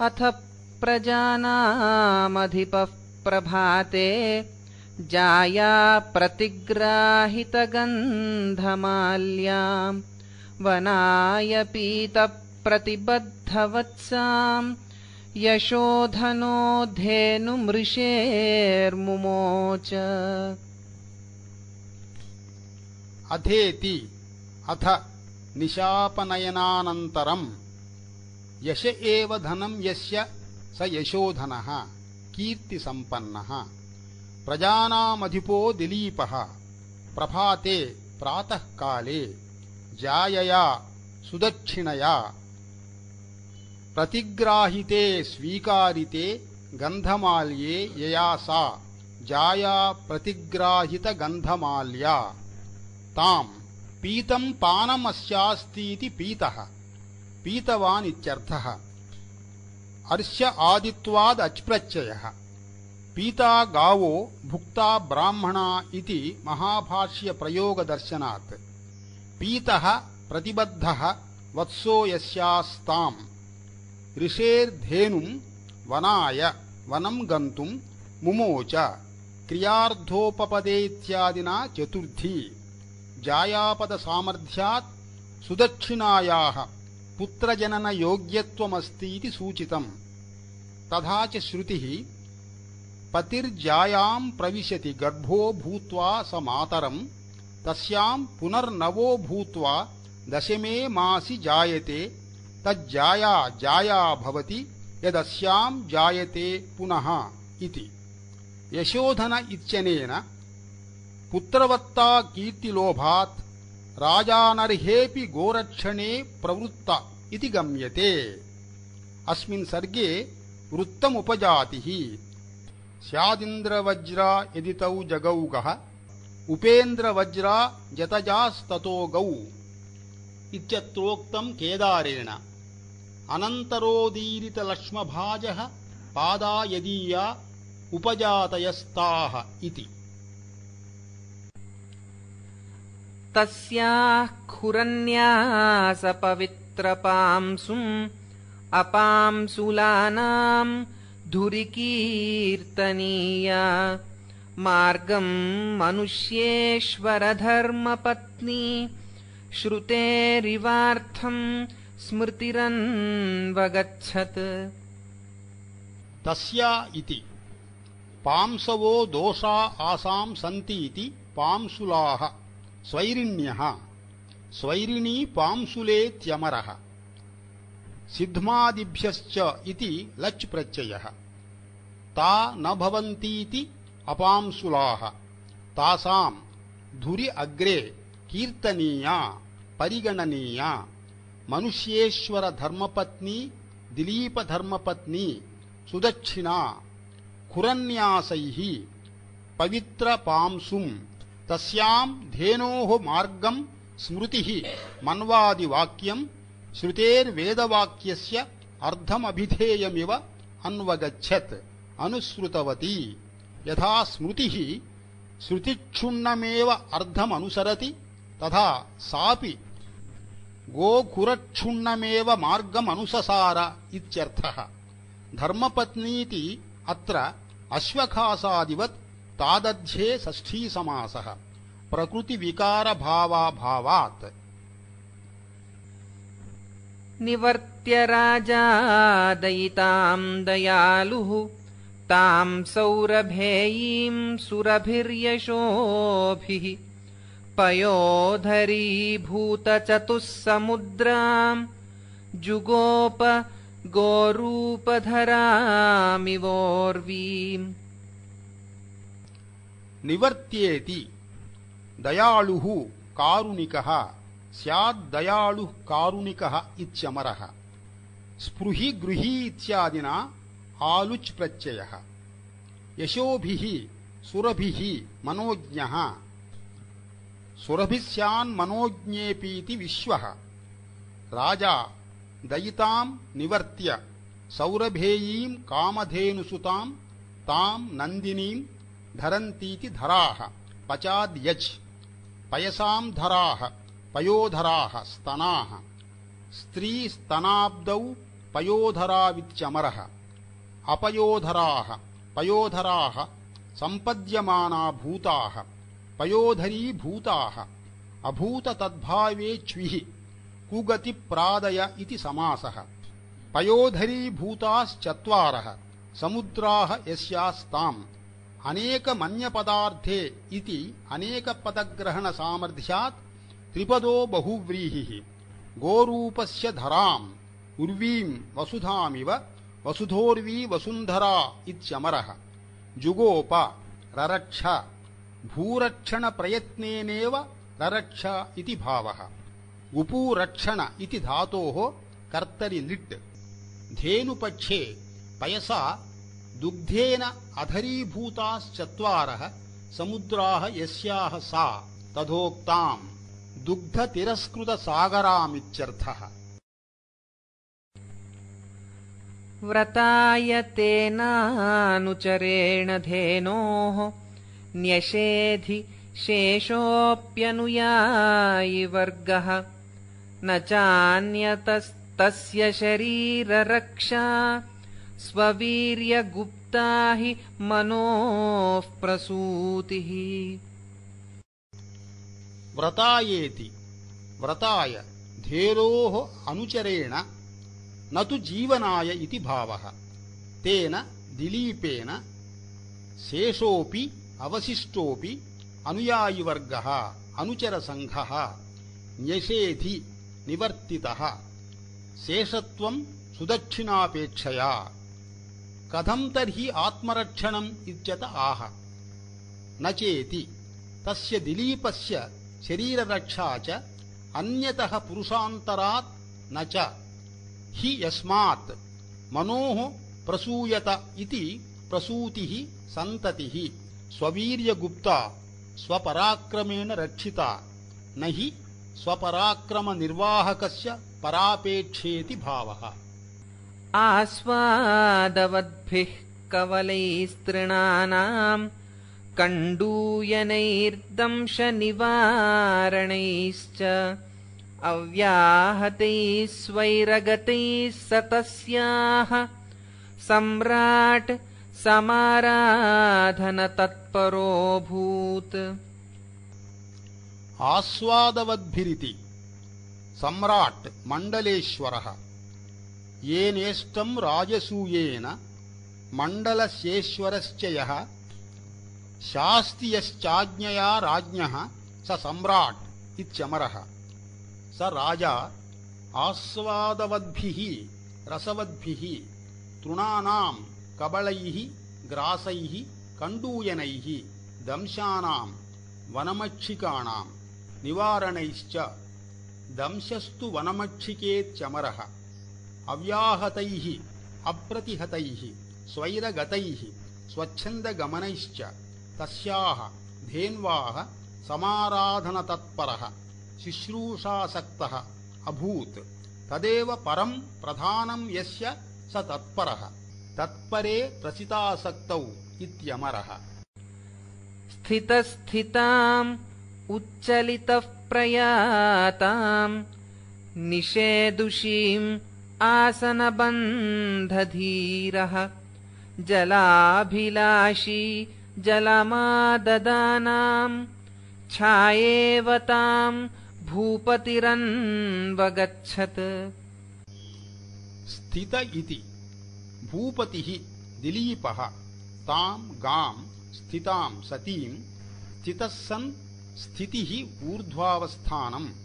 अथ प्रजानामधिपः प्रभाते जाया प्रतिग्राहितगन्धमाल्याम् वनाय पीतप्रतिबद्धवत्साम् यशोधनो धेनुमृषेर्मुमोच। अथेति अथ निशापनयनानन्तरम् यश एव धनं यस्य स यशोधनः कीर्तिसम्पन्नः प्रजानामधिपो दिलीपः प्रभाते प्रातःकाले जायया सुदक्षिणया प्रतिग्राहिते स्वीकारिते गन्धमाल्ये यया सा जाया प्रतिग्राहितगन्धमाल्या ताम् पीतं पानमस्यास्तीति पीतः पीतवान् इत्यर्थः। अर्ष्य आदित्वाद् अच्प्रत्ययः। पीता गावो भुक्ता ब्राह्मणा इति महाभाष्यप्रयोगदर्शनात् पीतः प्रतिबद्धः वत्सो यस्यास्ताम् ऋषेर्धेनुं वनाय वनं गन्तुं मुमोच क्रियार्थोपपदेत्यादिना चतुर्थी जायापदसामर्थ्यात् सुदक्षिणायाः पुत्रजननयोग्यत्वमस्तीति सूचितम्। तथा च श्रुतिः पतिर्जायां प्रविशति गर्भो भूत्वा स मातरं तस्यां पुनर्नवो भूत्वा दशमे मासि जायते तज्जाया जाया भवति यदस्यां जायते पुनः इति। यशोधन इत्यनेन पुत्रवत्ता कीर्तिलोभात् राजानर्हेऽपि गोरक्षणे प्रवृत्त इति गम्यते। अस्मिन् सर्गे वृत्तमुपजातिः स्यादिन्द्रवज्रा यदि तौ जगौगः उपेन्द्रवज्रा जतजास्ततो गौ इत्यत्रोक्तं केदारेण। अनन्तरोदीरितलक्ष्मभाजः पादा यदीया उपजातयस्ताः इति। तस्याः खुरन्यासपवित्रपांसुम् अपांसुलानां धुरिकीर्तनीया मार्गं मनुष्येश्वरधर्मपत्नी श्रुतेरिवार्थं स्मृतिरन्वगच्छत्। तस्या इति पांसवो दोषा आसां सन्तीति पांसुलाः स्वैरिण्यः स्वैरिणी पांसुलेत्यमरः सिद्ध्मादिभ्यश्च इति लच् प्रत्ययः। ता न भवन्तीति अपांसुलाः तासां धुरि अग्रे कीर्तनीया परिगणनीया मनुष्येश्वर धर्मपत्नी दिलीप धर्मपत्नी सुदक्षिणा खुरन्यासैः पवित्र पांसुं तस्यां धेनोः मार्गं स्मृतिः मन्वादिवाक्यं श्रुतेर्वेदवाक्यस्य अर्धमभिधेयमिव अन्वगच्छत् अनुसृतवती। यथा स्मृतिः श्रुतिक्षुण्णमेव अर्धमनुसरति तथा सापि गोखुरक्षुण्णमेव मार्गमनुससार इत्यर्थः। धर्मपत्नीति अत्र अश्वखासादिवत् तादध्ये षष्ठीसमासः प्रकृतिविकारभावाभावात्। निवर्त्य राजा दयितां दयालुः तां सौरभेयीं सुरभिर्यशोभिः पयोधरीभूतचतुस्समुद्रां जुगोप गोरूपधरामिवोर्वीम्। निवर्त्येति दयालुः कारुणिकः स्याद्दयालुः कारुणिकः इत्यमरः। स्पृहि गृही इत्यादिना आलुच् प्रत्ययः। यशोभिः सुरभिः मनोज्ञः सुरभिस्यान्मनोज्ञेऽपीति विश्वः। राजा दयितां निवर्त्य सौरभेयीं कामधेनुसुतां तां नन्दिनीं धरन्तीति धराः पचाद्यच् पयसां धराः पयोधराः स्तनाः स्त्रीस्तनाब्दौ पयोधरावित्यमरः अपयोधराः पयोधराः सम्पद्यमाना भूताः पयोधरीभूताः अभूततद्भावे च्विः कुगतिप्रादय इति समासः पयोधरीभूताश्चत्वारः समुद्राः यस्यास्ताम् अनेकमन्यपदार्थे इति अनेकपदग्रहणसामर्थ्यात् त्रिपदो बहुव्रीहिः गोरूपस्य धराम् उर्वीम् वसुधामिव वसुधोर्वी वसुन्धरा इत्यमरः जुगोप ररक्ष भूरक्षणप्रयत्नेनेव ररक्ष इति भावः गुपूरक्षण इति धातोः कर्तरि लिट् धेनुपक्षे पयसा दुग्धेन अधरीभूताश्चत्वारः समुद्राः यस्याः सा तथोक्ताम् दुग्धतिरस्कृतसागरामित्यर्थः। व्रताय तेनानुचरेण धेनोः न्यषेधि शेषोऽप्यनुयायि वर्गः न चान्यतस्तस्य शरीररक्षा स्ववीर्यगुप्ता हि मनोः प्रसूतिः। व्रतायेति व्रताय धेरोः अनुचरेण न तु जीवनाय इति भावः तेन दिलीपेन शेषोऽपि अवशिष्टोऽपि अनुयायिवर्गः अनुचरसङ्घः न्यषेधि निवर्तितः शेषत्वं सुदक्षिणापेक्षया कथं तर्हि आत्मरक्षणम् इत्यत आह न चेति तस्य दिलीपस्य शरीररक्षा च अन्यतः पुरुषान्तरात् न च हि यस्मात् मनोः प्रसूयत इति प्रसूतिः सन्ततिः स्ववीर्यगुप्ता स्वपराक्रमेण रक्षिता न हि स्वपराक्रमनिर्वाहकस्य परापेक्षेति भावः। आस्वादवद्भिः कवलैस्तृणानाम् कण्डूयनैर्दंशनिवारणैश्च अव्याहतैः स्वैरगतैः सतस्याः सम्राट् समाराधनतत्परोऽभूत्। आस्वादवद्भिरिति सम्राट् मण्डलेश्वरः येनेष्टं राजसूयेन मण्डलस्येश्वरश्च यः शास्ति यश्चाज्ञया राज्ञः स सम्राट् इत्यमरः स राजा आस्वादवद्भिः रसवद्भिः तृणानां कबलैः ग्रासैः कण्डूयनैः दंशानां वनमक्षिकाणां निवारणैश्च दंशस्तु वनमक्षिकेत्यमरः अव्याहतैः अप्रतिहतैः स्वैरगतैः स्वच्छन्दगमनैश्च तस्याः धेन्वाः समाराधनतत्परः शुश्रूषासक्तः अभूत् तदेव परं प्रधानं यस्य स तत्परः तत्परे प्रसितासक्तौ इत्यमरः। स्थितस्थिताम् उच्चलितः प्रयाताम् निषेदुषीम् आसनबन्धधीरः जलाभिलाषी जलमाददानाम् छायेव ताम् भूपतिरन्वगच्छत्। स्थित इति भूपतिः दिलीपः तां गां स्थितां सतीं स्थितः सन् स्थितिः ऊर्ध्वावस्थानम्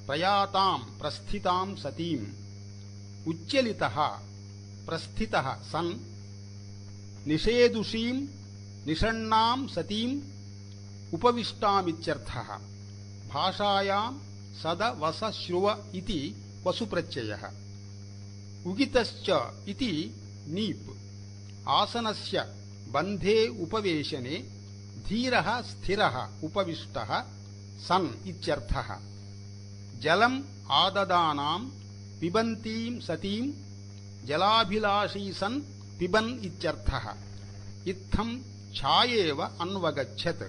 प्रयातां प्रस्थितां सतीम् उच्चलितः प्रस्थितः सन् निषेदुषीं निषण्णां सतीम् उपविष्टामित्यर्थः। भाषायां सदवसश्रुव इति वसुप्रत्ययः उगितश्च इति नीप् आसनस्य बन्धे उपवेशने धीरः स्थिरः उपविष्टः सन् इत्यर्थः। जलम् आददानां पिबन्तीं सतीं जलाभिलाषी सन् पिबन् इत्यर्थः। इत्थं छायेव अन्वगच्छत्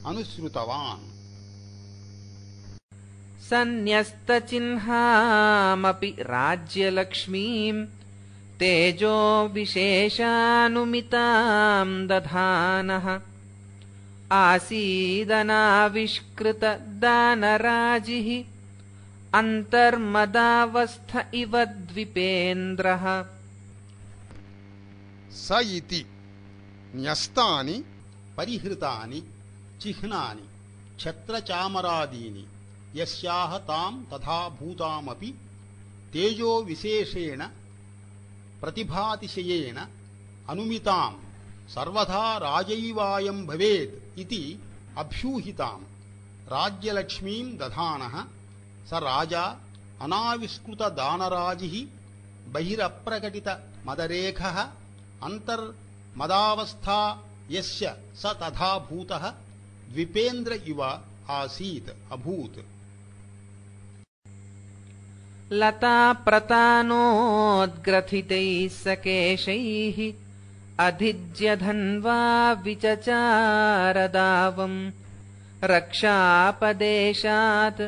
अनुसृतवान्। सन्न्यस्तचिह्नामपि राज्यलक्ष्मीम् तेजो विशेषानुमितां दधानः आसीदनाविष्कृतदानराजिः अन्तर्मदावस्थ इव द्विपेन्द्रः स इति न्यस्तानि परिहृतानि चिह्नानि छत्रचामरादीनि यस्याः तां तथा भूतामपि तेजो विशेषेण प्रतिभातिशयेन अनुमितां सर्वथा राजैवायं भवेत् इति अभ्यूहितां राज्यलक्ष्मीं दधानः स राजा अनाविष्कृतदानराजिः बहिरप्रकटितमदरेखः अन्तर्मदावस्था यस्य स तथा भूतः द्विपेन्द्र इव आसीत् अभूत् लताप्रतानोद्ग्रथितैः सकेशैः अधिज्यधन्वा विचचारदावम् रक्षापदेशात्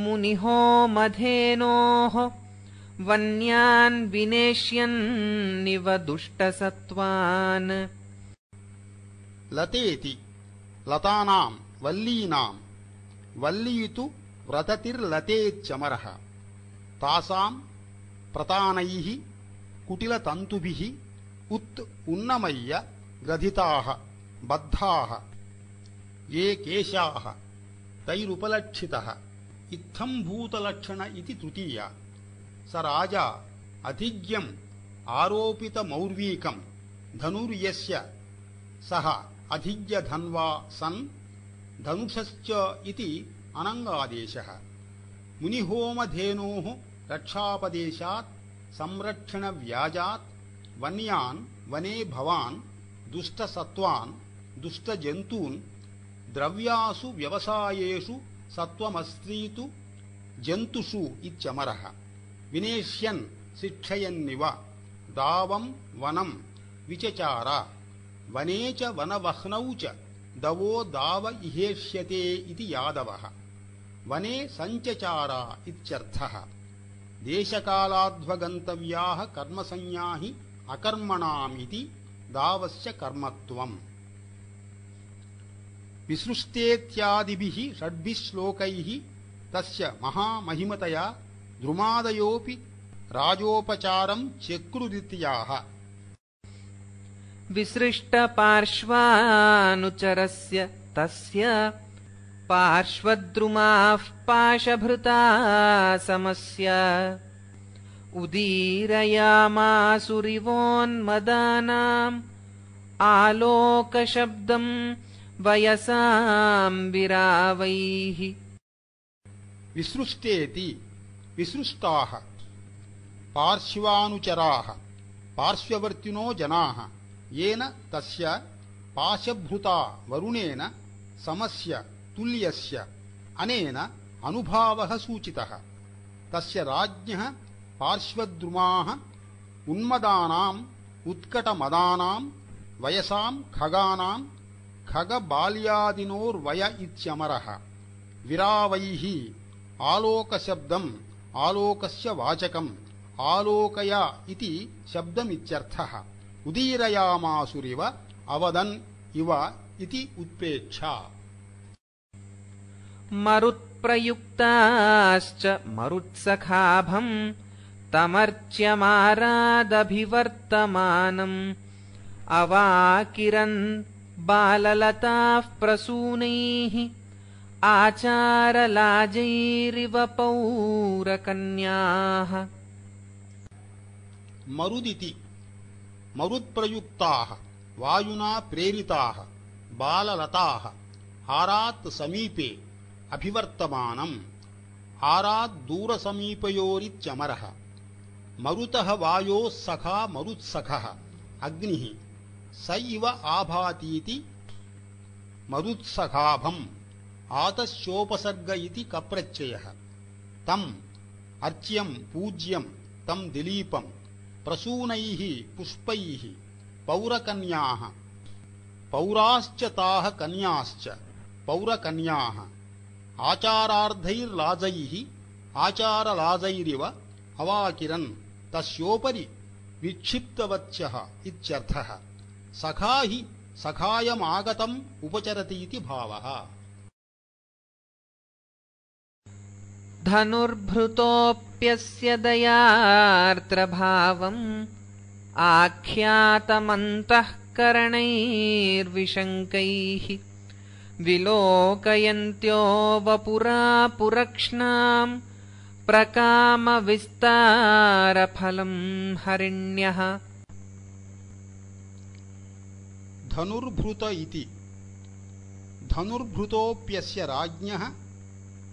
मुनिहोमधेनोः वन्यान् विनेष्यन्निव दुष्टसत्त्वान् लतेति लतानां वल्लीनां वल्लीतु व्रततिर्लतेच्चमरः तासां प्रतानैः कुटिलतन्तुभिः उन्नमय्य ग्रथिताः बद्धाः ये केशाः तैरुपलक्षितः इत्थम्भूतलक्षण इति तृतीया स राजा अधिज्ञम् आरोपितमौर्वीकं धनुर्यस्य सः अधिज्ञधन्वा सन् धनुषश्च इति अनङ्गादेशः मुनिहोमधेनोः रक्षापदेशात् संरक्षणव्याजात् वन्यान् वने भवान् दुष्टसत्त्वान् दुष्टजन्तून् द्रव्यासु व्यवसायेषु सत्त्वमस्त्रीतु जन्तुषु इत्यमरः विनेष्यन् शिक्षयन्निव दावं वनं विचचार वने च वनवह्नौ च दवो दाव इहेष्यते इति यादवः वने सञ्चचार इत्यर्थः देशकालाध्वगन्तव्याः कर्मसंज्ञा हि अकर्मणाम् इति दावस्य कर्मत्वम् विसृष्टेत्यादिभिः षड्भिः श्लोकैः तस्य महामहिमतया द्रुमादयोऽपि राजोपचारं चक्रुरित्याह विसृष्टपार्श्वानुचरस्य तस्य पार्श्वद्रुमाः पाशभृता समस्य उदीरयामासुरिवोन्मदानाम् आलोकशब्दं वयसां विरावैः विसृष्टेति विसृष्टाः पार्श्वानुचराः पार्श्ववर्तिनो जनाः येन तस्य पाशभृता वरुणेन समस्य तुल्यस्य अनेन अनुभावः सूचितः तस्य राज्ञः पार्श्वद्रुमाः उन्मदानाम् उत्कटमदानां वयसां खगानां खगबाल्यादिनोर्वय इत्यमरः विरावैः आलोकशब्दम् आलोकस्य वाचकम् आलोकय इति शब्दमित्यर्थः उदीरयामासुरिव अवदन् इव इति उत्प्रेक्षा मरुत्प्रयुक्ताश्च मरुत्सखाभम् तमर्च्यमारादभिवर्तमानम् अवाकिरन् बाललताः प्रसूनैः आचारलाजैरिव पौरकन्याः मरुदिति मरुत्प्रयुक्ताः वायुना प्रेरिताः बाललताः हारात् समीपे अभिवर्तमानम् हारात् दूरसमीपयोरित्यमरः मरुतः वायोः सखा मरुत्सखः अग्निः स इव आभातीति मरुत्सखाभम् आतस्योपसर्ग इति कप्रत्ययः तम् अर्च्यं पूज्यं तं दिलीपं प्रसूनैः पुष्पैः पौरकन्याः पौराश्च ताः कन्याश्च पौरकन्याः आचारार्धैर्लाजैः आचारलाजैरिव अवाकिरन् तस्योपरि विक्षिप्तवत्यः इत्यर्थः। सखा हि सखायमागतम् उपचरति इति भावः। धनुर्भृतोऽप्यस्य दयार्द्रभावम् आख्यातमन्तःकरणैर्विशङ्कैः विलोकयन्त्यो वपुरापुरक्ष्णाम् प्रकामविस्तारफलम् हरिण्यः। धनुर्भृत इति धनुर्भृतोऽप्यस्य राज्ञः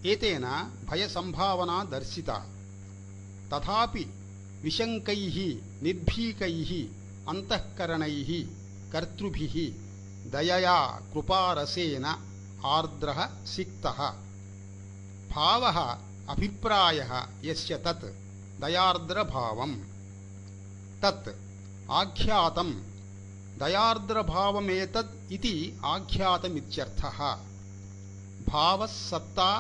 एतेन भयसंभावना दर्शिता। तथापि विशङ्कैः निर्भीकैः अन्तःकरणैः कर्तृभिः दयया कृपारसेन आर्द्रः सिक्तः। भावः अभिप्रायः यस्य तत् दयार्द्रभावम्। तत् आख्यातम् दयार्द्रभावमेतद् इति आख्यातमित्यर्थः। भावः सत्ता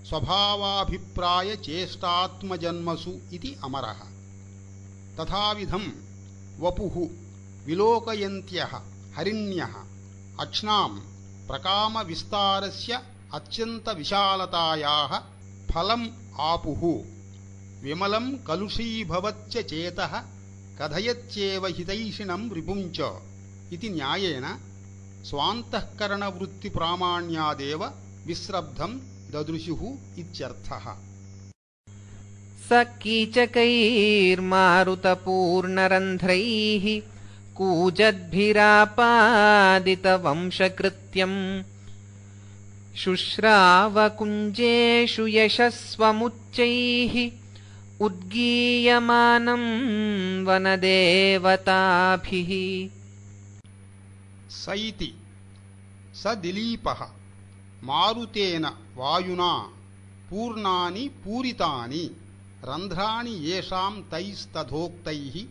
स्वभावाभिप्राय चेष्टात्मजन्मसु इति अमरः। तथाविधं वपुः विलोकयन्त्यः हरिण्यः अक्ष्णां प्रकामविस्तारस्य अत्यन्तविशालतायाः फलम् आपुः। विमलं कलुषीभवच्च चेतः कथयत्येव हितैषिणं रिपुञ्च इति न्यायेन स्वान्तःकरणवृत्तिप्रामाण्यादेव विस्रब्धं ददृशुः इत्यर्थः। स कीचकैर्मारुतपूर्णरन्ध्रैः कूजद्भिरापादितवंशकृत्यम् शुश्रावकुञ्जेषु यशस्वमुच्चैः उद्गीयमानं वनदेवताभिः। स इति स दिलीपः मारुतेन वायुना पूर्णानि पूरितानि रन्ध्राणि येषां तैस्तथोक्तैः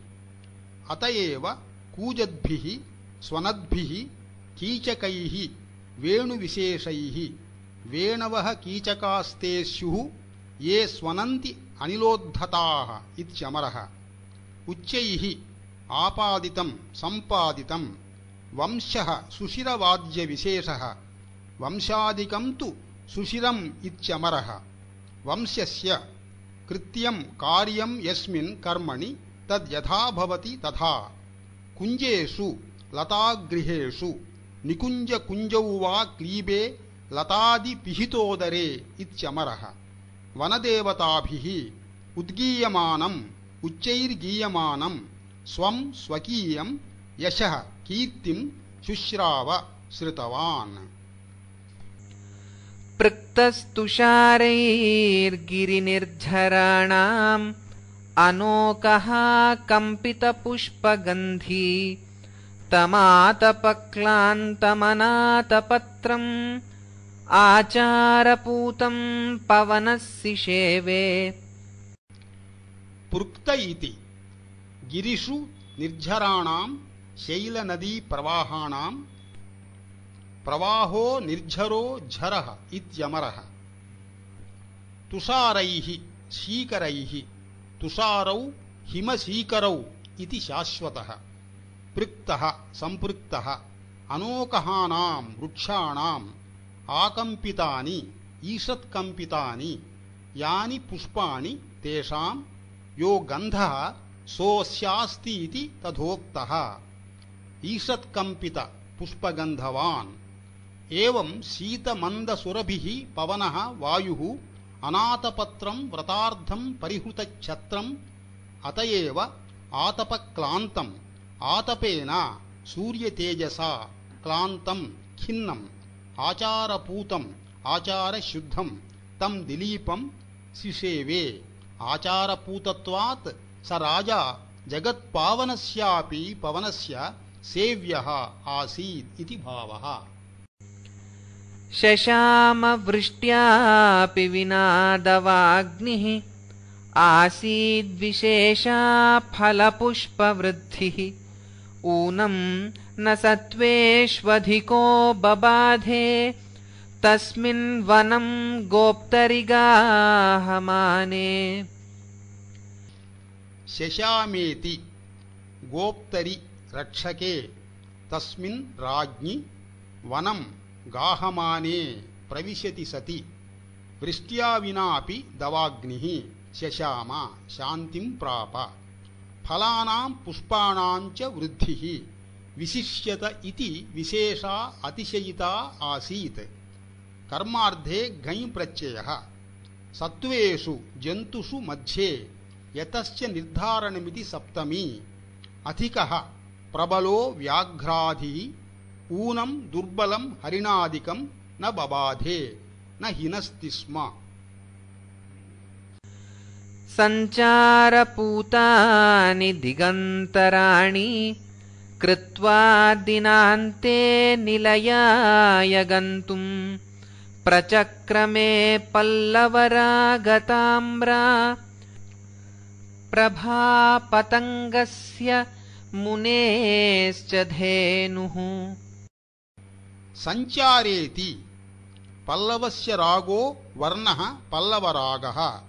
अत एव कूजद्भिः स्वनद्भिः कीचकैः वेणुविशेषैः वेणवः कीचकास्ते स्युः ये स्वनन्ति अनिलोद्धताः इत्यमरः। उच्चैः आपादितं सम्पादितं वंशः सुशिरवाद्यविशेषः वंशादिकं तु सुशिरम् इत्यमरः। वंशस्य कृत्यं कार्यं यस्मिन् कर्मणि तद् यथा भवति तथा कुञ्जेषु लतागृहेषु निकुञ्जकुञ्जौ वा क्लीबे लतादिपिहितोदरे इत्यमरः। वनदेवताभिः उद्गीयमानम् उच्चैर्गीयमानं स्वं स्वकीयं यशः कीर्तिं शुश्राव श्रुतवान्। पृक्तस्तुषारैर्गिरिनिर्झराणाम् अनोकः कम्पितपुष्पगन्धी तमातपक्लान्तमनातपत्रम् आचारपूतं पवनस्सिषेवे। पृक्त इति गिरिषु निर्झराणां शैलनदीप्रवाहाणां प्रवाहो निर्झरो झरः इत्यमरः। तुषारैः शीकरैः तुषारौ हिमशीकरौ इति शाश्वतः। पृक्तः सम्पृक्तः अनोकहानां वृक्षाणाम् आकम्पितानि ईषत्कम्पितानि यानि पुष्पाणि तेषां यो गन्धः सोऽस्यास्ति इति तथोक्तः। ईषत्कम्पित पुष्पगन्धवान्। एवं शीतमन्दसुरभिः पवनः वायुः अनातपत्रं व्रतार्धं परिहृतच्छत्रम् अत एव आतपक्लान्तम् आतपेन सूर्यतेजसा क्लान्तं खिन्नम् आचारपूतम् आचारशुद्धं तं दिलीपं सिषेवे। आचारपूतत्वात् स राजा जगत्पावनस्यापि पवनस्य सेव्यः आसीत् इति भावः। शशामवृष्ट्यापि विनादवाग्निः आसीद्विशेषा फलपुष्पवृद्धिः ऊनं न सत्त्वेष्वधिको बबाधे तस्मिन् वनं गोप्तरिगाहमाने। शशामेति गोप्तरि रक्षके तस्मिन् राज्ञि वनं गाहमाने प्रविशति सति वृष्ट्या विनापि दवाग्निः शशाम शान्तिं प्राप फलानां पुष्पाणां च वृद्धिः विशिष्यत इति विशेषा अतिशयिता आसीत्। कर्मार्धे घञ् प्रत्ययः सत्त्वेषु जन्तुषु मध्ये यतश्च निर्धारणमिति सप्तमी अधिकः प्रबलो व्याघ्राधिः ऊनं दुर्बलं हरिणादिकं न बबाधे न हिनस्ति स्म। सञ्चारपूतानि दिगन्तराणि कृत्वा दिनान्ते निलयाय गन्तुं प्रचक्रमे पल्लवरागताम्रा प्रभापतङ्गस्य मुनेश्च धेनुः। सञ्चारेति पल्लवस्य रागो वर्णः पल्लवरागः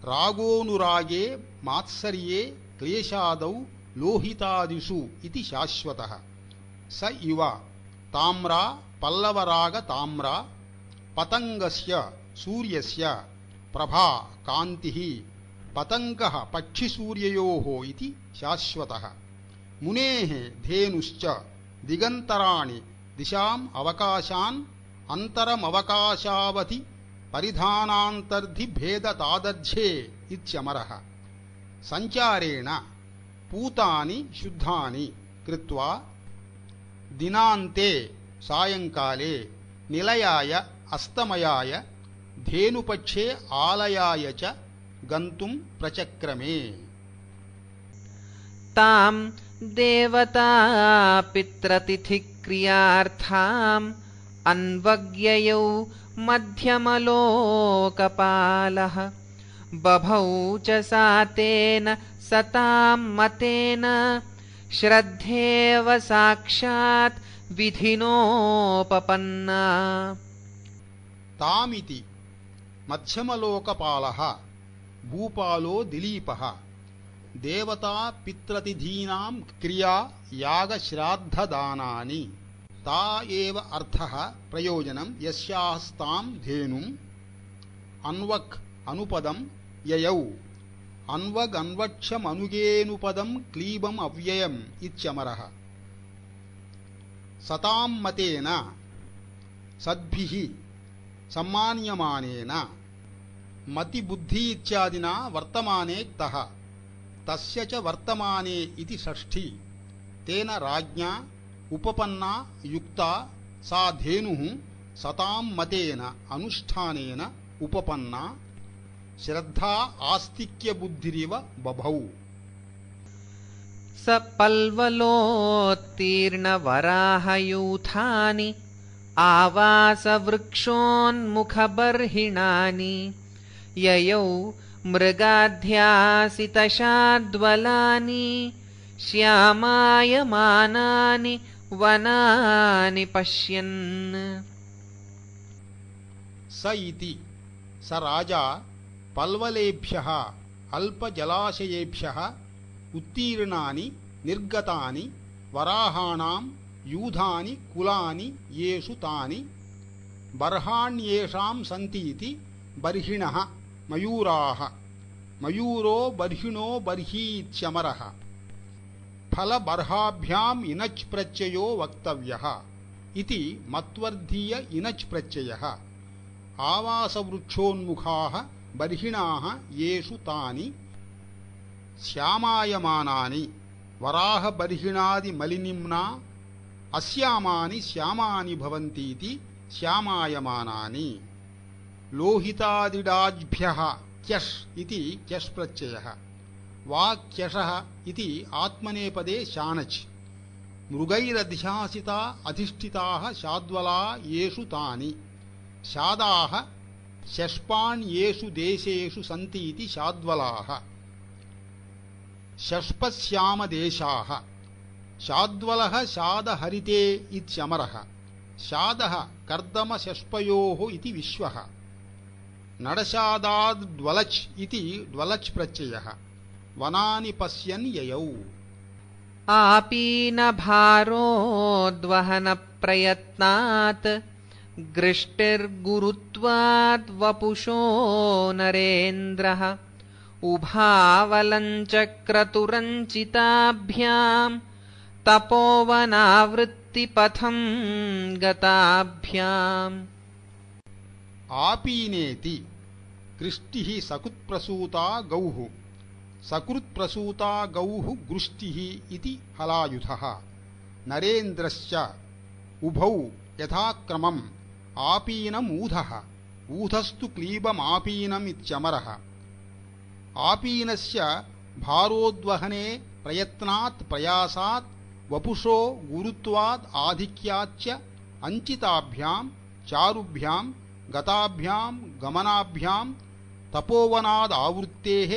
रागोनुरागे मात्सर्ये क्लेशादौ लोहितादिषु इति शाश्वतः। स इव ताम्रा पल्लवराग ताम्रा पतङ्गस्य सूर्यस्य प्रभा कान्तिः पतङ्गः पक्षिसूर्ययोः इति शाश्वतः। मुनेः धेनुश्च दिगन्तराणि दिशाम् अवकाशान् अन्तरमवकाशावधि परिधानान्तर्धि भेदतादर्ध्ये इत्यमरः। सञ्चारेण पूतानि शुद्धानि कृत्वा दिनान्ते सायङ्काले निलयाय अस्तमयाय धेनुपक्षे आलयाय च गन्तुं प्रचक्रमे। तां देवता पितृतिथिक्रियार्थाम् अन्वज्ञयौ मध्यमलोकपालः बभौ च सा तेन सतां मतेन श्रद्धेव साक्षात् विधिनोपपन्ना। तामिति मध्यमलोकपालः भूपालो दिलीपः देवता पितृतिथीनां क्रिया यागश्राद्धदानानि ता एव अर्थः प्रयोजनं यस्यास्तां धेनुम् अन्वक् अनुपदं ययौ अन्वग् अन्वक्षमनुगेनुपदं क्लीबम् अव्ययम् इत्यमरः। सतां मतेन सद्भिः सम्मान्यमानेन मतिबुद्धि इत्यादिना वर्तमाने क्तः तस्य च वर्तमाने इति षष्ठी तेन राज्ञा उपपन्ना युक्ता सा धेनुः सतां मतेन अनुष्ठानेन उपपन्ना श्रद्धा आस्तिक्यबुद्धिरिव बभौ। स पल्वलोत्तीर्णवराहयूथानि आवासवृक्षोन्मुखबर्हिणानि ययौ मृगाध्यासितशाद्वलानि श्यामायमानानि वनानि पश्यन्। स इति स राजा पल्वलेभ्यः अल्पजलाशयेभ्यः उत्तीर्णानि निर्गतानि वराहाणां यूधानि कुलानि येषु तानि बर्हाण्येषां सन्तीति बर्हिणः मयूराः मयूरो बर्हिणो बर्हीत्यमरः। फलबर्हाभ्याम् इनच् प्रत्ययो वक्तव्यः इति मत्वर्धीय इनच् प्रत्ययः। आवासवृक्षोन्मुखाः बर्हिणाः येषु तानि श्यामायमानानि वराहबर्हिणादिमलिनिम्ना अस्यामानि श्यामानि भवन्तीति श्यामायमानानि। लोहितादिडाज्भ्यः क्यश् इति क्यश् प्रत्ययः। वाक्यशः इति आत्मनेपदे शानच्। मृगैरध्यासिता अधिष्ठिताः शाद्वला येषु तानि शादाः शष्पाण्येषु देशेषु सन्तीति शाद्वलाः। शष्पश्यामदेशाः शाद्वलः शादहरिते इत्यमरः। शादः कर्दमशष्पयोः इति विश्वः। नडशादाद्वलच् इति ड्वलच् प्रत्ययः। वनानि पश्यन् ययौ। आपीनभारोद्वहनप्रयत्नात् गृष्टिर्गुरुत्वाद्वपुषो नरेन्द्रः उभावलञ्चक्रतुरञ्चिताभ्याम् तपोवनावृत्तिपथम् गताभ्याम् आपीनेति कृष्टिः सकुत्प्रसूता गौः सकृत्प्रसूता गौः गृष्टिः इति हलायुधः नरेन्द्रश्च उभौ यथाक्रमम् आपीनमूधः ऊधस्तु क्लीबमापीनमित्यमरः आपीनस्य भारोद्वहने प्रयत्नात् प्रयासात् वपुषो गुरुत्वाद् आधिक्याच्च अञ्चिताभ्याम् चारुभ्याम् गताभ्याम् गमनाभ्याम् तपोवनादावृत्तेः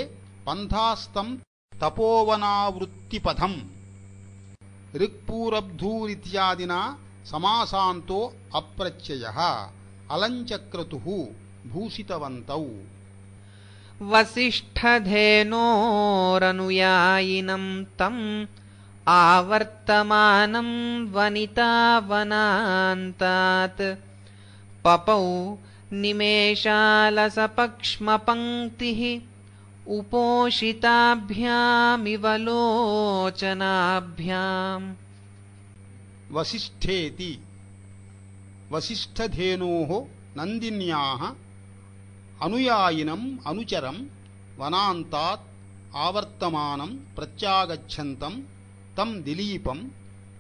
पन्थास्तम् तपोवनावृत्तिपथम् ऋक्पूरब्धूरित्यादिना समासान्तो अप्रत्ययः अलञ्चक्रतुः भूषितवन्तौ वसिष्ठधेनोरनुयायिनं तम् आवर्तमानं वनितावनान्तात् पपौ निमेषालसपक्ष्मपङ्क्तिः उपोषिताभ्यामिव लोचनाभ्याम् वसिष्ठेति वसिष्ठधेनोः नन्दिन्याः अनुयायिनम् अनुचरम् वनान्तात् आवर्तमानं प्रत्यागच्छन्तं तं दिलीपं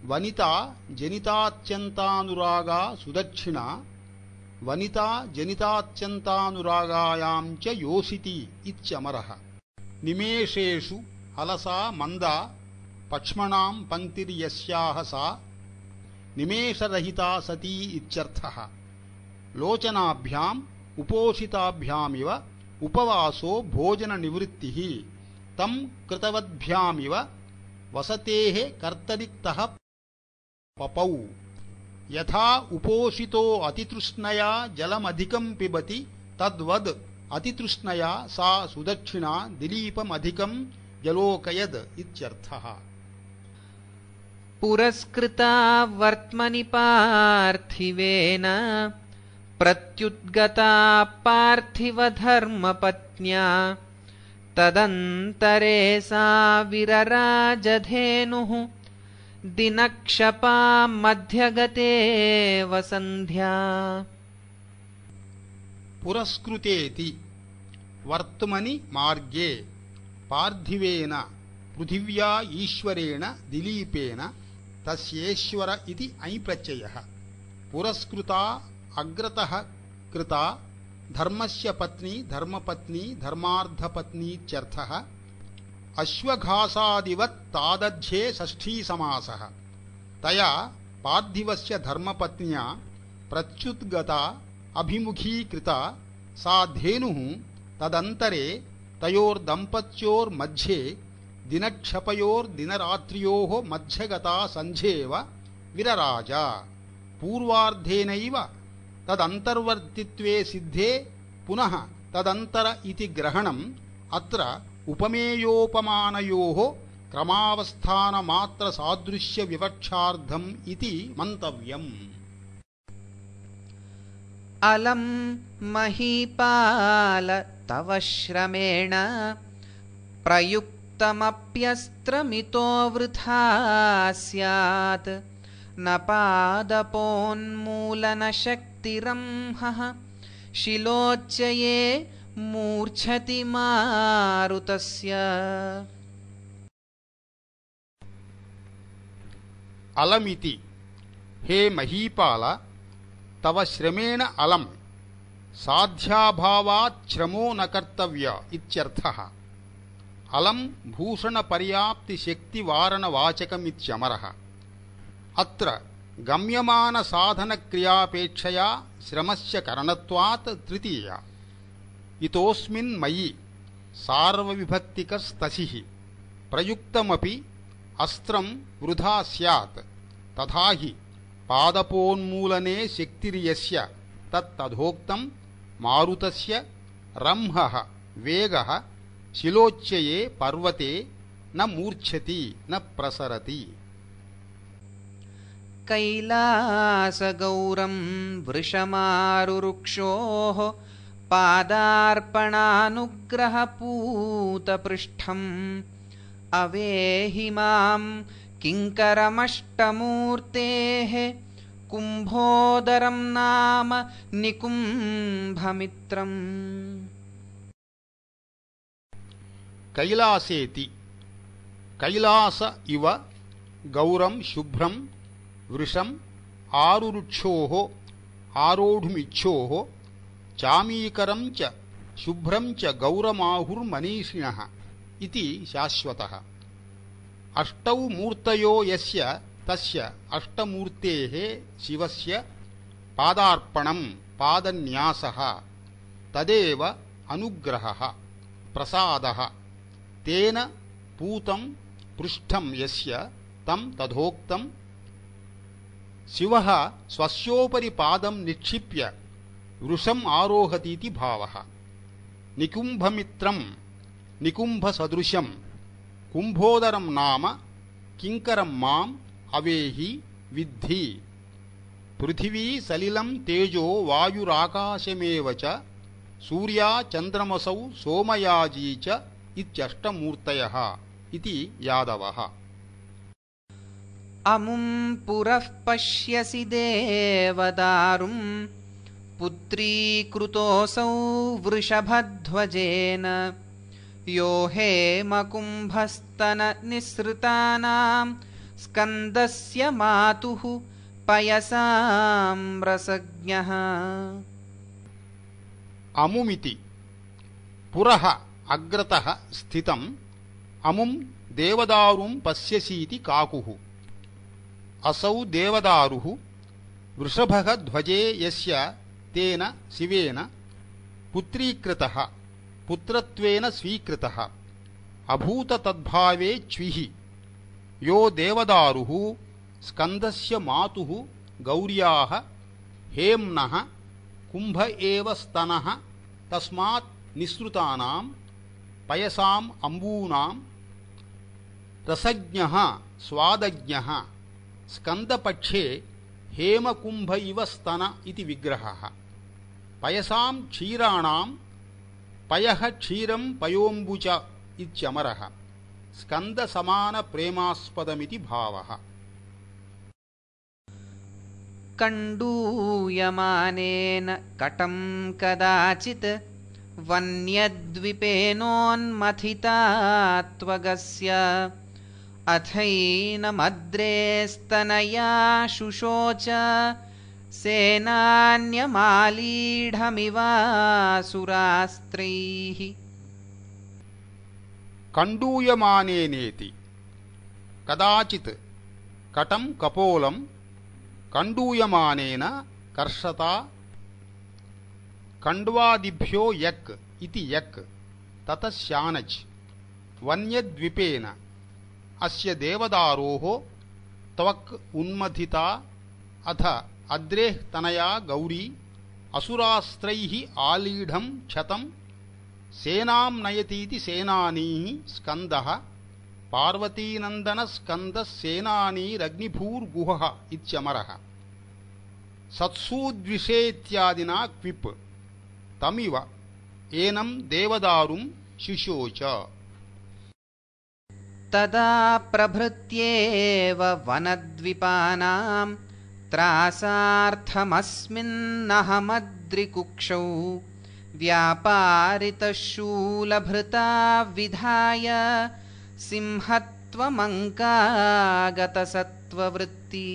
वनिता जनितात्यन्तानुरागा सुदक्षिणा वनिता जनितात्यन्तानुरागायां च योषिति इत्यमरः निमेषेषु अलसा मन्दा पक्ष्मणां पङ्क्तिर्यस्याः सा निमेषरहिता सती इत्यर्थः लोचनाभ्याम् उपोषिताभ्यामिव उपवासो भोजननिवृत्तिः तं कृतवद्भ्यामिव वसतेः कर्तरिक्तः पपौ यथा उपोषितो अतितृष्णया जलमधिकं पिबति तद्वद् अतितृष्णया सा सुदक्षिणा दिलीपमधिकं जलोकयद् इत्यर्थः पुरस्कृता वर्त्मनि पार्थिवेन प्रत्युद्गता पार्थिवधर्मपत्न्या तदन्तरे सा विरराजधेनुः दिनक्षपा मध्यगते वसन्ध्या पुरस्कृतेति वर्त्मनि मार्गे पार्थिवेन पृथिव्या ईश्वरेण दिलीपेन तस्येश्वर इति ऐप्रत्ययः पुरस्कृता अग्रतः कृता धर्मस्य पत्नी धर्मपत्नी धर्मार्धपत्नीत्यर्थः अश्वघासादिवत् तादध्ये षष्ठी समासः तया पार्थिवस्य धर्मपत्न्या प्रत्युद्गता अभिमुखीकृता सा धेनुः तदन्तरे तयोर्दम्पत्योर्मध्ये दिनक्षपयोर्दिनरात्र्योः मध्यगता सन्ध्येव विरराज पूर्वार्धेनैव तदन्तर्वर्तित्वे सिद्धे पुनः तदन्तर इति ग्रहणम् अत्र उपमेयोपमानयोः क्रमावस्थानमात्रसादृश्यविवक्षार्थम् इति मन्तव्यम् अलं महीपाल तव श्रमेण प्रयुक्तमप्यस्त्रमितो वृथा स्यात् न पादपोन्मूलनशक्तिरंहः शिलोच्चये मूर्च्छति मारुतस्य अलमिति हे महीपाल तव श्रमेण अलम् साध्याभावात् श्रमो न कर्तव्य इत्यर्थः अलम् भूषणपर्याप्तिशक्तिवारणवाचकमित्यमरः अत्र गम्यमानसाधनक्रियापेक्षया श्रमस्य करणत्वात् तृतीया इतोऽस्मिन् मयि सार्वविभक्तिकस्तसिः प्रयुक्तमपि अस्त्रं वृथा स्यात् तथा हि पादपोन्मूलने शक्तिर्यस्य तत्तथोक्तं मारुतस्य रंहः वेगः शिलोच्चये पर्वते न मूर्च्छति न प्रसरति। कैलासगौरं वृषमारुरुक्षोः पादार्पणानुग्रहपूतपृष्ठम् अवेहि मां किङ्करमष्टमूर्तेः कुम्भोदरं नाम निकुम्भमित्रम्। कैलासेति कैलास इव गौरं शुभ्रं वृषम् आरुरुक्षोः आरोढुमिच्छोः चामीकरं च शुभ्रं च गौरमाहुर्मनीषिणः इति शाश्वतः। अष्टौ मूर्तयो यस्य तस्य अष्टमूर्तेः शिवस्य पादार्पणं पादन्यासः तदेव अनुग्रहः प्रसादः। तेन पूतं पृष्ठं यस्य तं तथोक्तं शिवः स्वस्योपरि पादं निक्षिप्य वृषम् आरोहतीति भावः। निकुम्भमित्रं निकुम्भसदृशं कुम्भोदरं नाम किङ्करं माम् अवेहि विद्धि। पृथिवी सलिलं तेजो वायुराकाशमेव च सूर्या चन्द्रमसौ सोमयाजी च इत्यष्टमूर्तयः इति यादवः। अमुं पुरः पश्यसि देवदारुं पुत्रीकृतोऽसौ वृषभध्वजेन यो हेमकुम्भस्तननिःसृतानां स्कन्दस्य मातुः पयसां रसज्ञः। अमुमिति पुरः अग्रतः स्थितम् अमुं देवदारुं पश्यसीति काकुः। असौ देवदारुः वृषभः ध्वजे यस्य तेन शिवेन पुत्रीकृतः पुत्रत्वेन स्वीकृतः अभूत तद्भावे च्विः। यो देवदारुः स्कन्दस्य मातुः गौर्याः हेम्नः कुम्भ एव स्तनः तस्मात् निःसृतानां पयसाम् अम्बूनां रसज्ञः स्वादज्ञः स्कन्दपक्षे हेमकुम्भ इव स्तन इति विग्रहः। पयसां क्षीराणां पयः क्षीरं पयोऽम्बुच इत्यमरः स्कन्दसमानप्रेमास्पदमिति भावः। कण्डूयमानेन कटं कदाचित् वन्यद्विपेनोन्मथिता त्वगस्य अथैनमद्रे स्तनया शुशोच सेनान्यमालीढमिवासुरास्त्रैः। कण्डूयमानेनेति कदाचित् कटं कपोलं कण्डूयमानेन कर्षता कण्ड्वादिभ्यो यक् इति यक् ततः शानच् वन्यद्विपेन अस्य देवदारोः त्वक् उन्मथिता अथ अद्रेः तनया गौरी असुरास्त्रैः आलीढं क्षतं सेनां नयतीति सेनानी स्कन्दः पार्वतीनन्दनस्कन्दः सेनानीरग्निभूर्गुहः इत्यमरः। सत्सूद्विषेत्यादिना क्विप् तमिव एनं देवदारुं शुशोच। तदा प्रभृत्येव वनद्विपानां त्रासार्थमस्मिन्नहमद्रिकुक्षौ व्यापारितशूलभृता विधाय सिंहत्वमङ्कागतसत्त्ववृत्ति।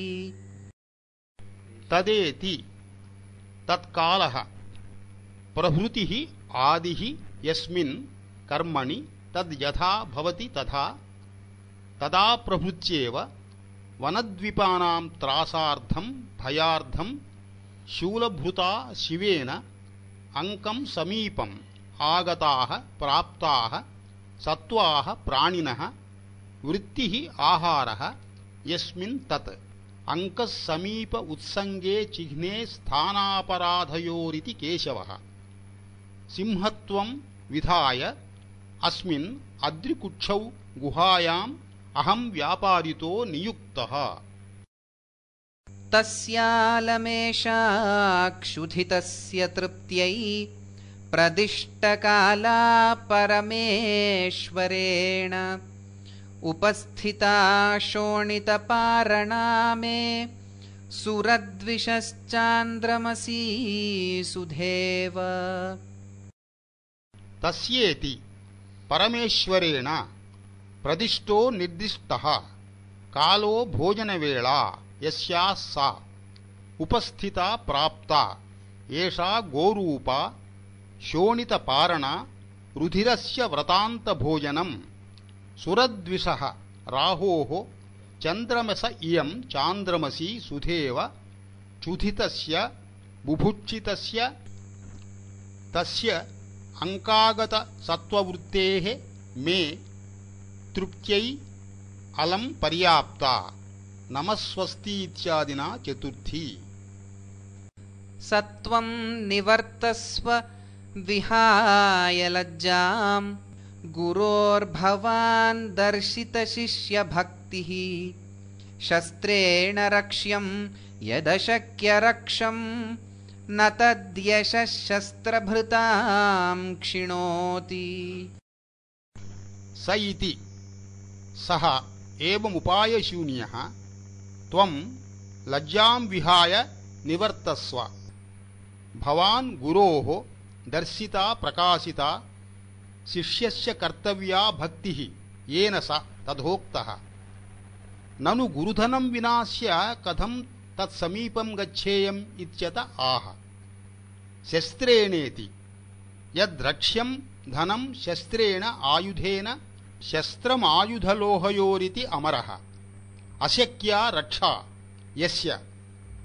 तदेति तत्कालः प्रभृतिः आदिः यस्मिन् कर्मणि तद् यथा भवति तथा तदा प्रभृत्येव वनद्वीपानां त्रासार्थं भयार्थं शूलभृता शिवेन अंकं समीपम् आगताः प्राप्ताः सत्त्वाः प्राणिनः वृत्तिः आहारः यस्मिन् तत् अंकः समीप उत्संगे चिह्ने स्थानापराधयोरिति केशवः। सिंहत्वं विधाय अस्मिन् अद्रिकुक्षौ गुहायाम् अहं व्यापारितो नियुक्तः। तस्यालमेषा क्षुधितस्य तृप्त्यै प्रदिष्टकाला परमेश्वरेण उपस्थिता शोणितपारणा मे सुरद्विषश्चान्द्रमसी सुधेव। तस्येति परमेश्वरेण प्रदिष्टो निर्दिष्टः कालो भोजनवेला यस्याः सा उपस्थिता प्राप्ता एषा गोरूपा शोणितपारणा रुधिरस्य व्रतान्तभोजनं सुरद्विषः राहोः चन्द्रमस इयं चान्द्रमसी सुधेव क्षुधितस्य बुभुक्षितस्य तस्य अंकागतसत्त्ववृत्तेः मे तृप्त्यै अलं पर्याप्ता नमस्वस्ति इत्यादिना चतुर्थी। सत्वं निवर्तस्व विहाय लज्जां गुरोर्भवान् दर्शितशिष्यभक्तिः शस्त्रेण रक्ष्यं यदशक्यरक्षं न तद्यशः शस्त्रभृतां क्षिणोति। स इति सः एवमुपायशून्यः त्वं लज्जां विहाय निवर्तस्व। भवान् गुरोः दर्शिता प्रकाशिता शिष्यस्य कर्तव्या भक्तिः येन स तथोक्तः। ननु गुरुधनं विनाश्य कथं तत्समीपं गच्छेयम् इत्यत आह। शस्त्रेणेति यद्रक्ष्यं धनं शस्त्रेण आयुधेन शस्त्रमायुधलोहयोरिति अमरः। अशक्या रक्षा यस्य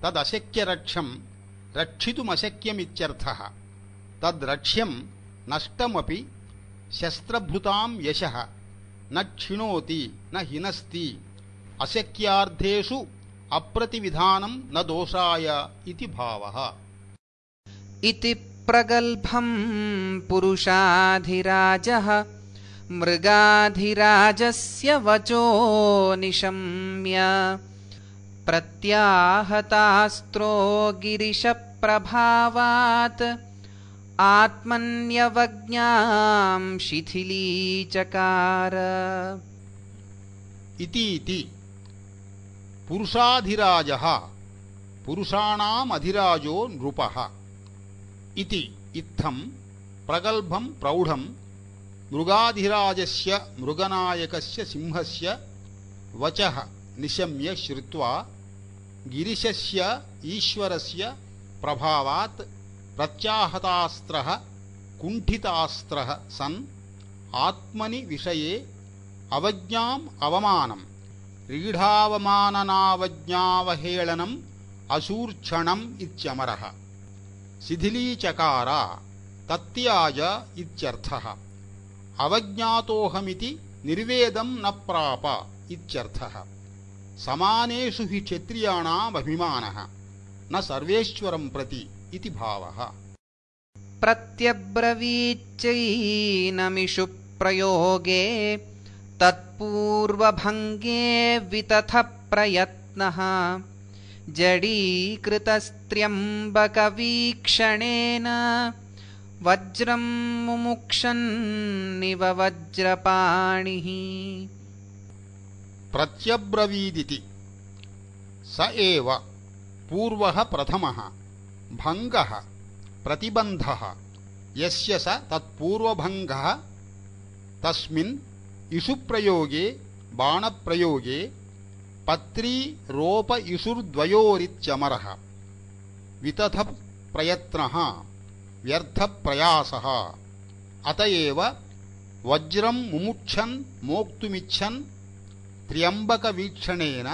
तदशक्यरक्षं रक्षितुमशक्यमित्यर्थः। तद्रक्ष्यं नष्टमपि शस्त्रभृतां यशः न क्षिणोति न हिनस्ति। अशक्यार्थेषु अप्रतिविधानं न दोषाय इति भावः। इति प्रगल्भं पुरुषाधिराजः मृगाधिराजस्य वचो निशम्य प्रत्याहतास्त्रो गिरिशप्रभावात् आत्मन्यवज्ञां शिथिलीचकार। इति पुरुषाधिराजः पुरुषाणामधिराजो नृपः। इति इत्थं प्रगल्भं प्रौढं मृगाधिराजस्य मृगनायकस्य सिंहस्य वचः निशम्य श्रुत्वा गिरिशस्य ईश्वरस्य प्रभावात् प्रत्याहतास्त्रः कुण्ठितास्त्रः सन् आत्मनि विषये अवज्ञाम् अवमानं रीढावमाननावज्ञावहेळनम् असूर्क्षणम् इत्यमरः। शिथिलीचकार तत्याज इत्यर्थः। अवज्ञातोऽहमिति निर्वेदं न प्राप इत्यर्थः। समानेषु हि क्षत्रियाणामभिमानः न सर्वेश्वरं प्रति इति भावः। प्रत्यब्रवीच्चैनमिषु प्रयोगे तत्पूर्वभङ्गे वितथ प्रयत्नः जडीकृतस्त्र्यम्बकवीक्षणेन वज्रं मुमुक्षन्निव वज्रपाणिः। प्रत्यब्रवीदिति स एव पूर्वः प्रथमः भङ्गः प्रतिबन्धः यस्य स तत्पूर्वभङ्गः तस्मिन् इषुप्रयोगे बाणप्रयोगे पत्री रोप इषुर्द्वयोरित्यमरः। वितथ प्रयत्नः व्यर्थप्रयासः। अतएव वज्रं मुमुक्षन् मोक्तुमिच्छन् त्र्यम्बकवीक्षणेन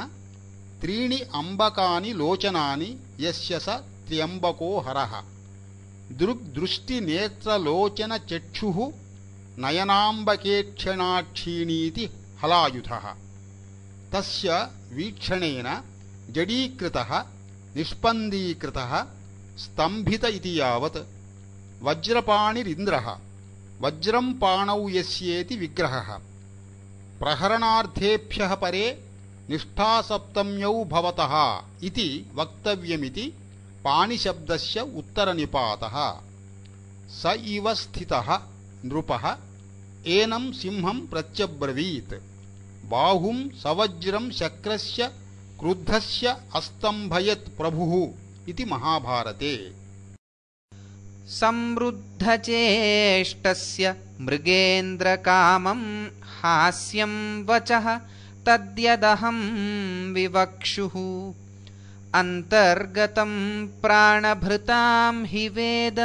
त्रीणि अम्बकानि लोचनानि यस्य स त्र्यम्बको हरः। दृग्दृष्टिनेत्रलोचनचक्षुः नयनाम्बकेक्षणाक्षीणीति हलायुधः। तस्य वीक्षणेन जडीकृतः निष्पन्दीकृतः स्तम्भित इति यावत् वज्रपाणिरिन्द्रः वज्रं पाणौ यस्येति विग्रहः प्रहरणार्थेभ्यः परे निष्ठासप्तम्यौ भवतः इति वक्तव्यमिति पाणिशब्दस्य उत्तरनिपातः। स इव स्थितः नृपः एनं सिंहं प्रत्यब्रवीत् बाहुं सवज्रं शक्रस्य क्रुद्धस्य अस्तम्भयत् प्रभुः इति महाभारते। संवृद्धचेष्टस्य मृगेन्द्रकामं हास्यं वचः तद्यदहं विवक्षुः अन्तर्गतं प्राणभृतां हि वेद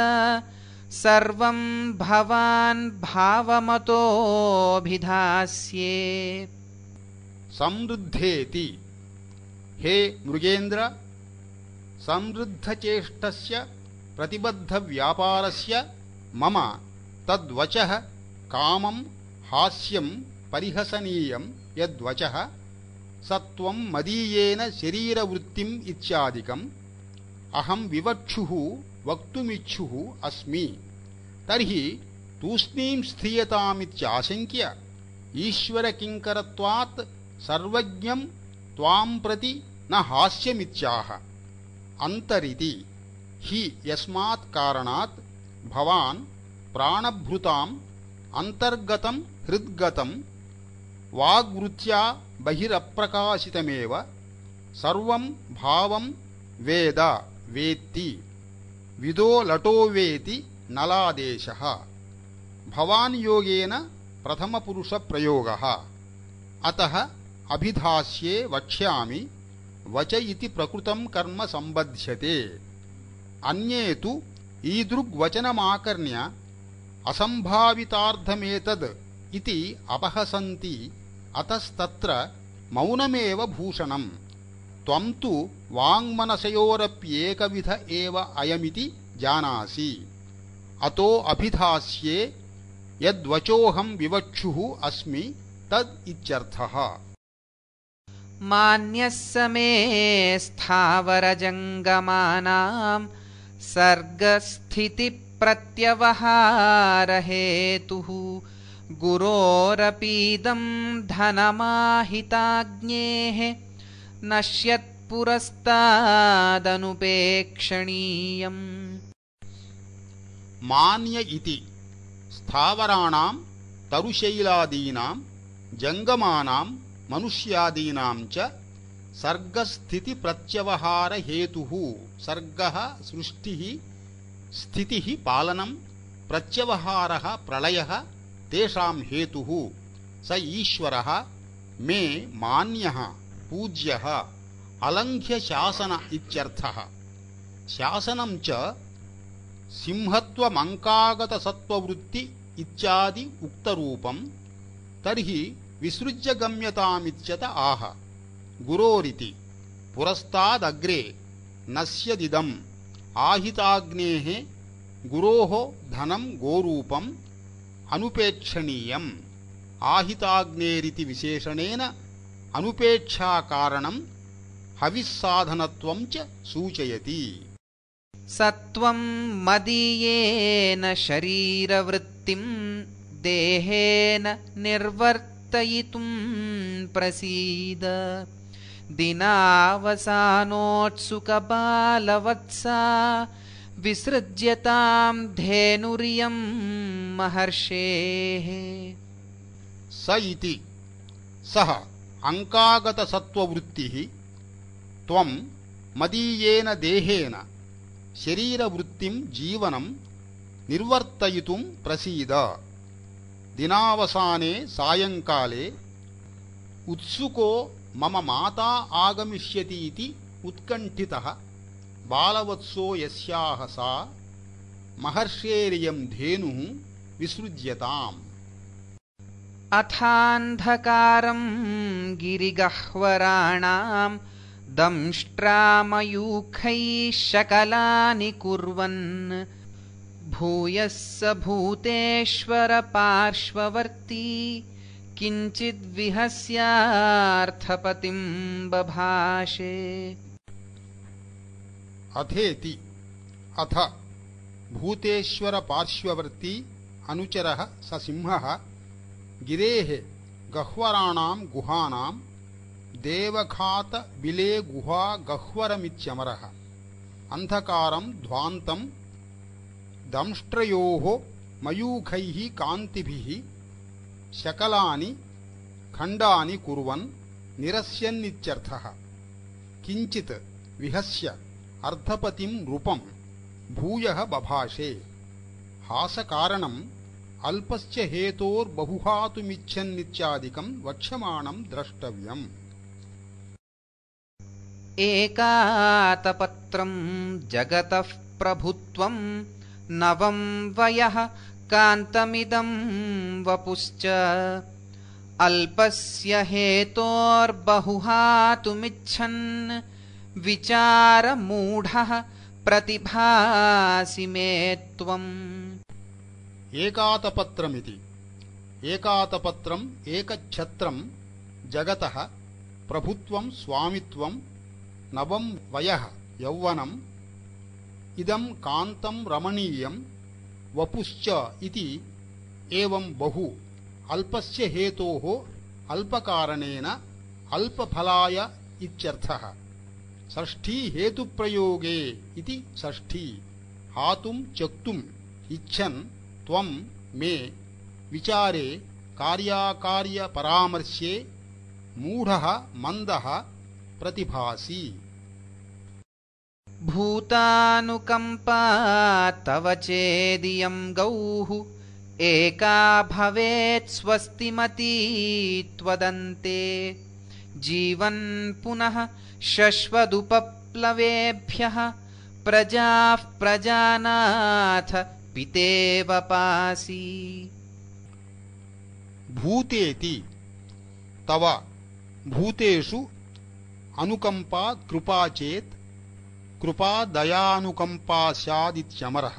सर्वं भवान् भावमतोऽभिधास्ये। समृद्धेति हे मृगेन्द्र समृद्धचेष्टस्य प्रतिबद्धव्यापारस्य मम तद्वचः कामं हास्यं परिहसनीयं यद्वचः स त्वं मदीयेन शरीरवृत्तिम् इत्यादिकम् अहं विवक्षुः वक्तुमिच्छुः अस्मि। तर्हि तूष्णीं स्त्रियतामित्याशङ्क्य ईश्वरकिङ्करत्वात् सर्वज्ञं त्वां प्रति न हास्यमित्याह। अन्तरिति हि यस्मात् कारणात् भवान् प्राणभृताम् अन्तर्गतं हृद्गतं वाग्वृत्त्या बहिरप्रकाशितमेव सर्वं भावं वेद वेत्ति विदो लटो वेति नलादेशः। भवान् योगेन प्रथमपुरुषप्रयोगः। अतः अभिधास्ये वक्ष्यामि वच इति प्रकृतं कर्म सम्बध्यते। अन्ये तु ईदृग्वचनमाकर्ण्य असम्भावितार्थमेतद् इति अपहसन्ति। अतस्तत्र मौनमेव भूषणम्। त्वं तु वाङ्मनसयोरप्येकविध एव अयमिति जानासि। अतो अभिधास्ये यद्वचोऽहं विवक्षुः अस्मि तद् इत्यर्थः। मान्यः समे स्थावरजङ्गमानां सर्गस्थितिप्रत्यवहारहेतुः गुरोरपीदं धनमाहिताज्ञेः नश्यत्पुरस्तादनुपेक्षणीयम्। मान्य इति स्थावराणां तरुशैलादीनां जङ्गमानां मनुष्यादीनां च सर्गस्थितिप्रत्यवहारहेतुः। सर्गः सृष्टिः स्थितिः पालनं प्रत्यवहारः प्रलयः तेषां हेतुः स ईश्वरः मे मान्यः पूज्यः अलङ्घ्य शासन इत्यर्थः। शासनं च सिंहत्वमङ्कागतसत्त्ववृत्ति इत्यादि उक्तरूपं। तर्हि विसृज्य गम्यतामित्यत आह। गुरोरिति पुरस्तादग्रे नश्यदिदम् आहिताग्नेः गुरोः धनं गोरूपम् अनुपेक्षणीयम्। आहिताग्नेरिति विशेषणेन अनुपेक्षाकारणं हविस्साधनत्वं च सूचयति। सत्वं मदीयेन शरीरवृत्तिं देहेन निर्वर्तयितुं प्रसीद। दिनावसानोत्सुकबालवत्सा विसृज्यतां धेनुरियं महर्षेः। स इति सः अंकागतसत्त्ववृत्तिः त्वं मदीयेन देहेन शरीरवृत्तिं जीवनं निर्वर्तयितुं प्रसीद। दिनावसाने सायंकाले उत्सुको मम माता आगमिष्यति इति उत्कण्ठितः बालवत्सो यस्याः सा महर्षेरियं धेनुः विसृज्यताम्। अथान्धकारं गिरिगह्वराणां दंष्ट्रामयूखैः शकलानि कुर्वन् भूयः स भूतेश्वर पार्श्ववर्ती किञ्चिद्विहस्यार्थपतिं बभाषे। अथेति अथ भूतेश्वर पार्श्ववर्ती अनुचरः स सिंहः गिरेः गह्वराणां गुहानां देवघात बिले गुहा गह्वरमित्यमरः अन्धकारं ध्वान्तं दंष्ट्रयोः मयूखैः कान्तिभिः शकलानि खण्डानि कुर्वन् निरस्यन्नित्यर्थः किञ्चित् विहस्य अर्धपतिं नृपं भूयः बभाषे हासकारणम् अल्पस्य हेतोर्बहुहातुमिच्छन्नित्यादिकं वक्ष्यमाणं द्रष्टव्यम्। एकातपत्रं जगतः प्रभुत्वं नवं वयः कान्तमिदं वपुश्च अल्पस्य हेतोर्बहुहातुमिच्छन् विचारमूढः प्रतिभासि मे त्वम्। एकातपत्रमिति एकातपत्रम् एकच्छत्रं जगतः प्रभुत्वं स्वामित्वं नवं वयः यौवनम् इदं कान्तं रमणीयं वपुश्च इति एवं बहु अल्पस्य हेतोः अल्पकारणेन अल्पफलाय इत्यर्थः। षष्ठी हेतुप्रयोगे इति षष्ठी हातुं चक्तुम् इच्छन् त्वं मे विचारे कार्याकार्यपरामर्शे मूढः मन्दः प्रतिभासि। भूतानुकम्पा तव चेदियं गौः एका भवेत् स्वस्तिमती त्वदन्ते जीवन् पुनः शश्वदुपप्लवेभ्यः प्रजाः प्रजानाथ पितेव पासि। भूतेति तव भूतेषु अनुकंपा कृपा चेत् कृपा दयानुकंपा स्यादित्यमरः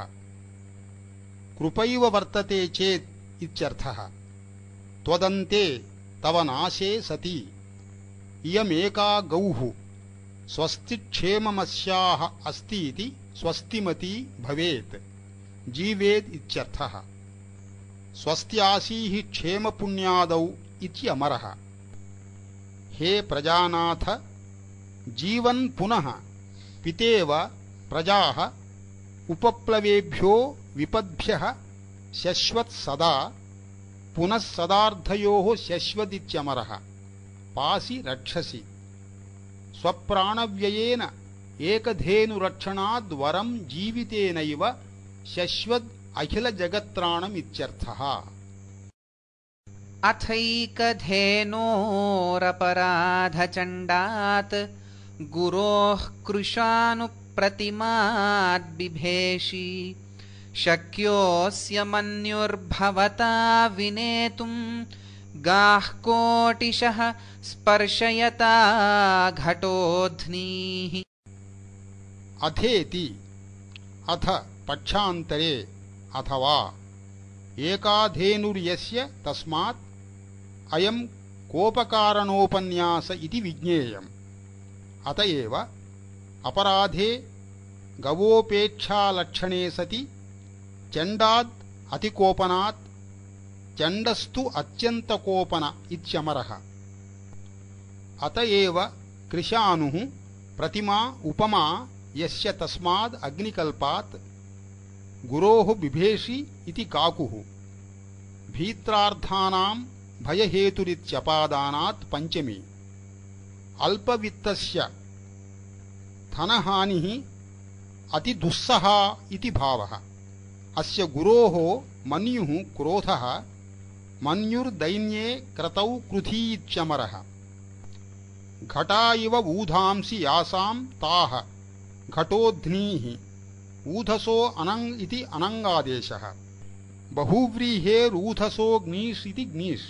कृपैव वर्तते चेत् इत्यर्थः। त्वदन्ते तव नाशे सति इयमेका गौः स्वस्तिक्षेममस्याः अस्ति इति स्वस्तिमती भवेत् जीवेत् इत्यर्थः। स्वस्त्यासीः क्षेमपुण्यादौ इत्यमरः। हे प्रजानाथ जीवन् पुनः पितेव प्रजाः उपप्लवेभ्यो विपद्भ्यः शश्वत् सदा पुनः सदार्धयोः शश्वदित्यमरः पासि रक्षसि। स्वप्राणव्ययेन एकधेनुरक्षणाद् वरं जीवितेनैव शश्वद् अखिलजगत्त्राणमित्यर्थः। अथैकधेनोरपराधचण्डात् गुरोः कृशानुप्रतिमाद्बिभेषि शक्योऽस्य मन्युर्भवता विनेतुम् गाः कोटिशः स्पर्शयता घटोध्नीः। अथेति अथ पक्षान्तरे अथवा एकाधेनुर्यस्य तस्मात् अयं कोपकारणोपन्यास इति विज्ञेयम्। अतएव अपराधे गवोपेक्षालक्षणे सति चण्डाद् अतिकोपनात् चण्डस्तु अत्यन्तकोपन इत्यमरः। अतएव कृशानुः प्रतिमा उपमा यस्य तस्माद् अग्निकल्पात् गुरोः बिभेषि इति काकुः भीत्रार्थानां भयहेतुरित्यपादानात् पंचमी। अल्पवित्तस्य धनहानिः अतिदुस्सहा इति भावः। अस्य गुरोः मन्युः क्रोधः मन्युर्दैन्ये क्रतौ कृधी इत्यमरः। घटा इव ऊधांसि यासां ताः घटोध्नीः ऊधसो अनङ् इति अनङ्गादेशः। बहुव्रीहेरूधसो ग्नीष् इति ग्नीष्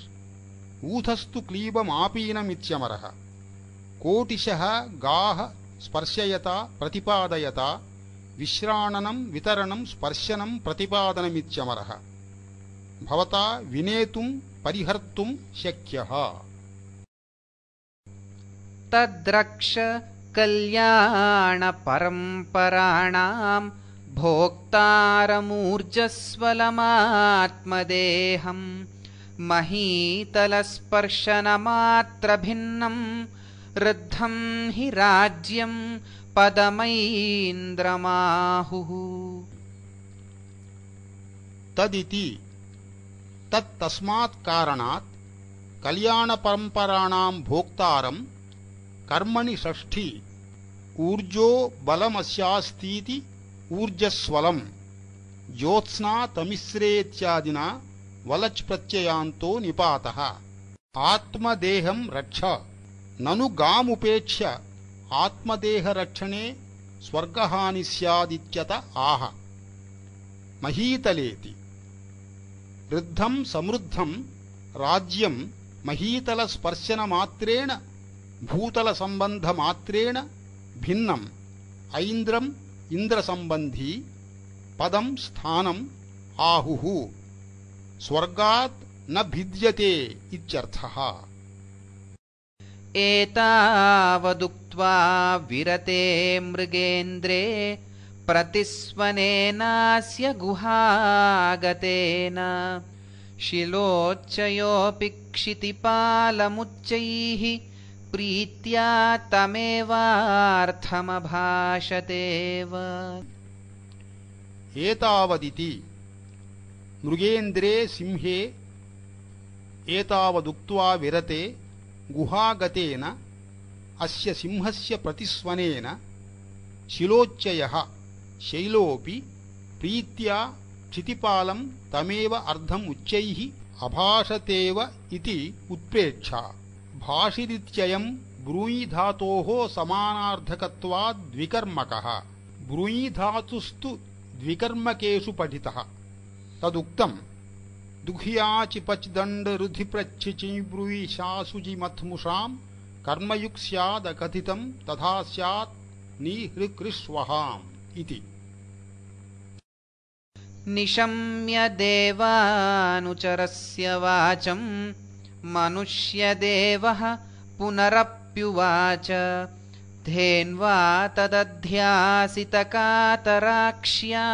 ऊधस्तु क्लीबमापीनमित्यमरः। कोटिशः गाः स्पर्शयता प्रतिपादयता विश्राणनं वितरणं स्पर्शनं प्रतिपादनमित्यमरः। भवता विनेतुं परिहर्तुं शक्यः। तद्रक्ष कल्याणपरम्पराणां भोक्तारमूर्जस्वलमात्मदेहं महीतलस्पर्शनमात्रभिन्नं ऋद्धं हि राज्यं पदमैन्द्रमाहुः। तदिति तत्तस्मात् कारणात् कल्याणपरम्पराणां भोक्तारं कर्मणि षष्ठी ऊर्जो बलमस्यास्तीति ऊर्जस्वलं ज्योत्स्ना तमिस्रेत्यादिना वलच् प्रत्ययान्तो निपातः। आत्मदेहं रक्ष ननु गामुपेक्ष्य आत्मदेहरक्षणे स्वर्गहानि स्यादित्यत आह। महीतलेति वृद्धं समृद्धं राज्यं महीतलस्पर्शनमात्रेण भूतलसम्बन्धमात्रेण भिन्नम् ऐन्द्रम् इन्द्रसम्बन्धी पदं स्थानम् आहुः। स्वर्गात् न भिद्यते इत्यर्थः। एतावदुक्त्वा विरते मृगेन्द्रे प्रतिस्वनेनास्य गुहागतेन शिलोच्चयोऽपि क्षितिपालमुच्चैः प्रीत्या तमेवार्थमभाषतेव। एतावदिति मृगेन्द्रे सिंहे एतावदुक्त्वा विरते गुहागतेन अस्य सिंहस्य प्रतिस्वनेन शिलोच्चयः शैलोऽपि प्रीत्या क्षितिपालं तमेव अर्धम् उच्चैः अभाषतेव इति उत्प्रेक्षा। भाषिरित्ययं ब्रूयि धातोः समानार्थकत्वाद् द्विकर्मकः। ब्रूयि धातुस्तु द्विकर्मकेषु पठितः। तदुक्तम् दुह्याचिपच् दण्ड रुधिप्रच्छिचि ब्रूयि शासुजिमथ्मुषां कर्मयुक् स्यादकथितं तथा स्यात् निहृकृष्वहाम् इति। निशम्य देवानुचरस्य वाचं मनुष्यदेवः पुनरप्युवाच धेन्वा तदध्यासितकातराक्ष्या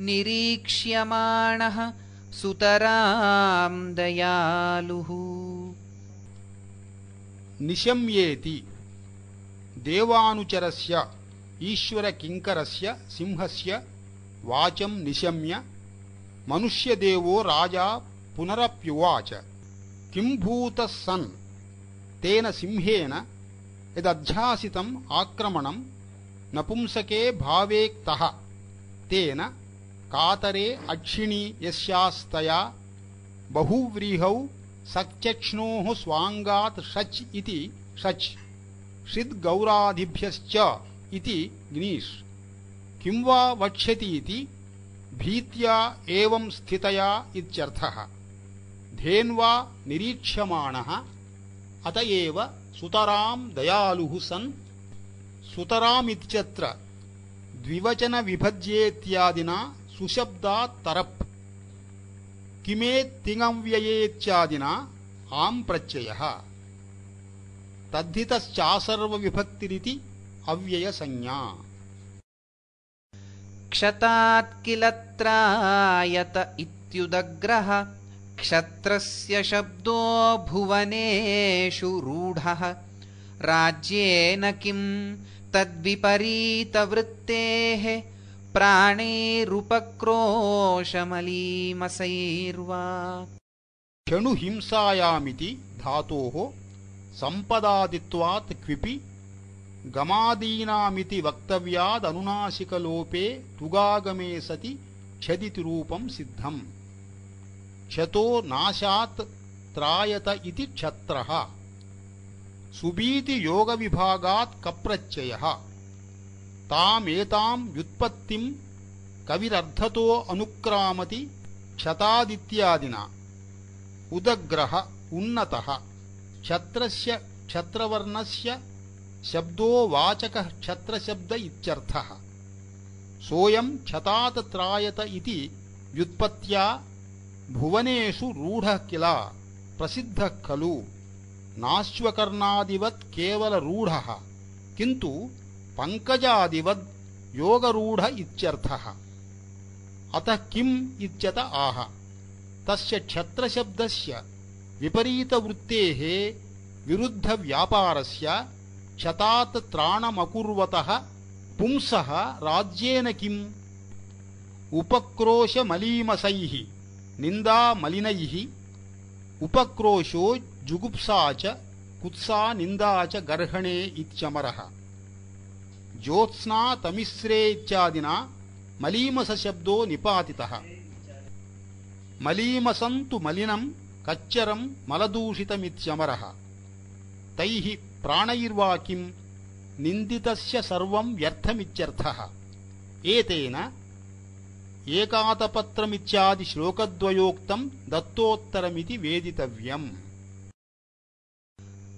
निरीक्ष्यमाणः सुतरां दयालुः। निशम्येति देवानुचरस्य ईश्वरकिङ्करस्य सिंहस्य वाचं निशम्य मनुष्यदेवो राजा पुनरप्युवाच किं भूतः सन् तेन सिंहेन यदध्यासितम् आक्रमणं नपुंसके भावेक्तः तेन कातरे अक्षिणी यस्यास्तया बहुव्रीहौ सचक्ष्णोः स्वाङ्गात् षच् इति षच् षिद्गौरादिभ्यश्च इति ग्नीष्। किं वा वक्ष्यतीति भीत्या एवं स्थितया इत्यर्थः। धेन्वा निरीक्ष्यमाणः अत एव सुतरां दयालुः सन् सुतरामित्यत्र द्विवचनविभज्येत्यादिना सुशब्दात् तरप् किमेत्तिङव्ययेत्यादिना आम् प्रत्ययः तद्धितश्चासर्वविभक्तिरिति अव्ययसंज्ञा। क्षतात् किल त्रायत इत्युदग्रः क्षत्रस्य शब्दो भुवनेषु रूढः राज्येन किं तद्विपरीतवृत्तेः प्राणैरुपक्रोशमलीमसैर्वा। क्षणुहिंसायामिति धातोः सम्पदादित्वात् क्विपि गमादीनामिति वक्तव्यादनुनासिकलोपे तुगागमे सति क्षदिति रूपं सिद्धम्। क्षतो नाशात् त्रायत इति क्षत्रः। सुबीति योगविभागात् कप्रत्ययः। तामेतां व्युत्पत्तिं कविरर्थतो अनुक्रामति क्षतादित्यादिना। उदग्रः उन्नतः क्षत्रस्य क्षत्रवर्णस्य शब्दो वाचकः क्षत्रशब्द इत्यर्थः। सोऽयं क्षतात् त्रायत इति व्युत्पत्त्या भुवनेषु रूढः किल प्रसिद्धः खलु। नाश्वकर्णादिवत् केवलरूढः किन्तु पङ्कजादिवद् योगरूढ इत्यर्थः। अतः किम् इत्यत आह। तस्य क्षत्रशब्दस्य विपरीतवृत्तेः विरुद्धव्यापारस्य क्षतात् त्राणमकुर्वतः पुंसः राज्येन किम्? उपक्रोशमलीमसैः निन्दामलिनैः उपक्रोशो जुगुप्सा च कुत्सा निन्दा च गर्हणे इत्यमरः। ज्योत्स्ना तमिस्रे इत्यादिना मलीमसशब्दो निपातितः। मलीमसं तु मलिनं कच्चरं मलदूषितमित्यमरः। तैः प्राणैर्वा किम्? निन्दितस्य सर्वं व्यर्थमित्यर्थः। एतेन एकातपत्रमित्यादि श्लोकद्वयोक्तं दत्तोत्तरमिति वेदितव्यम्।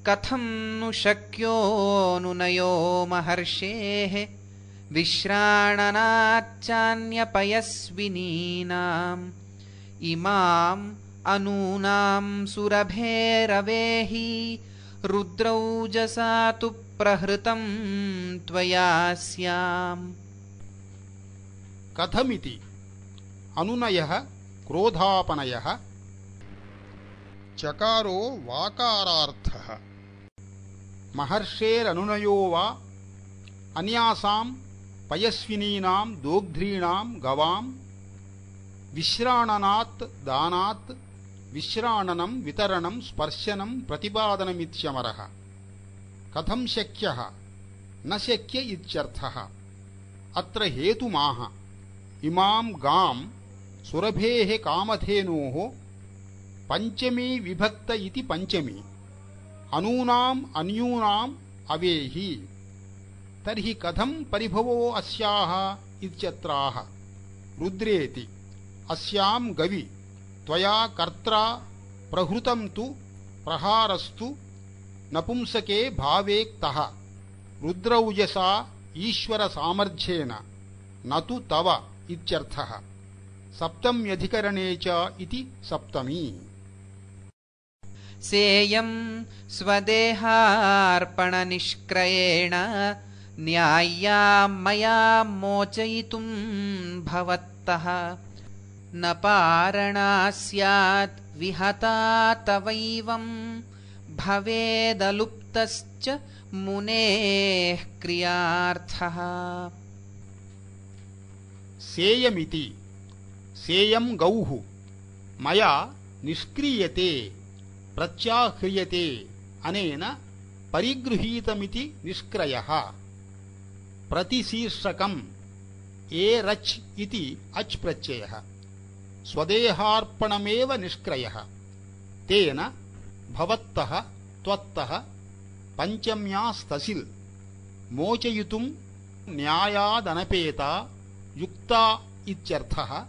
कथं नु शक्यो नुनयो महर्षेः विश्राणनाच्चान्यपयस्विनीनाम् इमाम् अनूनां सुरभेरवेहि रुद्रौजसा तु प्रहृतं त्वया स्याम्। कथमिति अनुनयः क्रोधापनयः चकारो वाकारार्थः। महर्षेरनुनयो वा अन्यासां पयस्विनीनां दोग्ध्रीणां गवां विश्राणनात् दानात् विश्राणनं वितरणं स्पर्शनं प्रतिपादनमित्यमरः। कथं शक्यः? न शक्य इत्यर्थः। अत्र हेतुमाह। इमां गां सुरभेः कामधेनोः पञ्चमी विभक्त इति पञ्चमी अनूनाम् अन्यूनाम् अवेहि। तर्हि कथं परिभवो अस्याः इत्यत्राह। रुद्रेति अस्यां गवि त्वया कर्त्रा प्रहृतं तु प्रहारस्तु नपुंसके भावेक्तः रुद्रौजसा ईश्वरसामर्थ्येन न तु तव इत्यर्थः। सप्तम्यधिकरणे च इति सप्तमी। सेयं स्वदेहार्पणनिष्क्रयेण न्याय्या मया मोचयितुं भवत्तः न पारणा स्यात् विहता तवैवं भवेदलुप्तश्च मुनेः क्रियार्थः। सेयमिति सेयं गौः मया निष्क्रियते प्रत्याह्रियते अनेन परिगृहीतमिति निष्क्रयः। प्रतिशीर्षकम् एरच् इति अच् प्रत्ययः स्वदेहार्पणमेव निष्क्रयः। तेन भवत्तः त्वत्तः पञ्चम्यास्तसिल् मोचयितुं न्यायादनपेता युक्ता इत्यर्थः।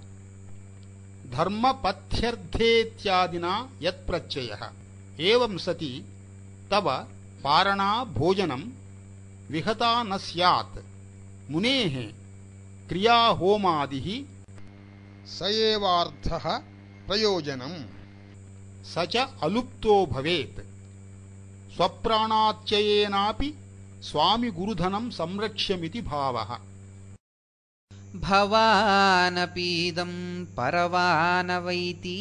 धर्मपथ्यर्थेत्यादिना यत्प्रत्ययः। एवं सति तव पारणा भोजनं विहता न स्यात् मुनेः क्रियाहोमादिः स एवार्थः प्रयोजनम्। स च अलुप्तो भवेत्। स्वप्राणात्ययेनापि स्वामिगुरुधनं संरक्ष्यमिति भावः। भवानपीदं परवानवैति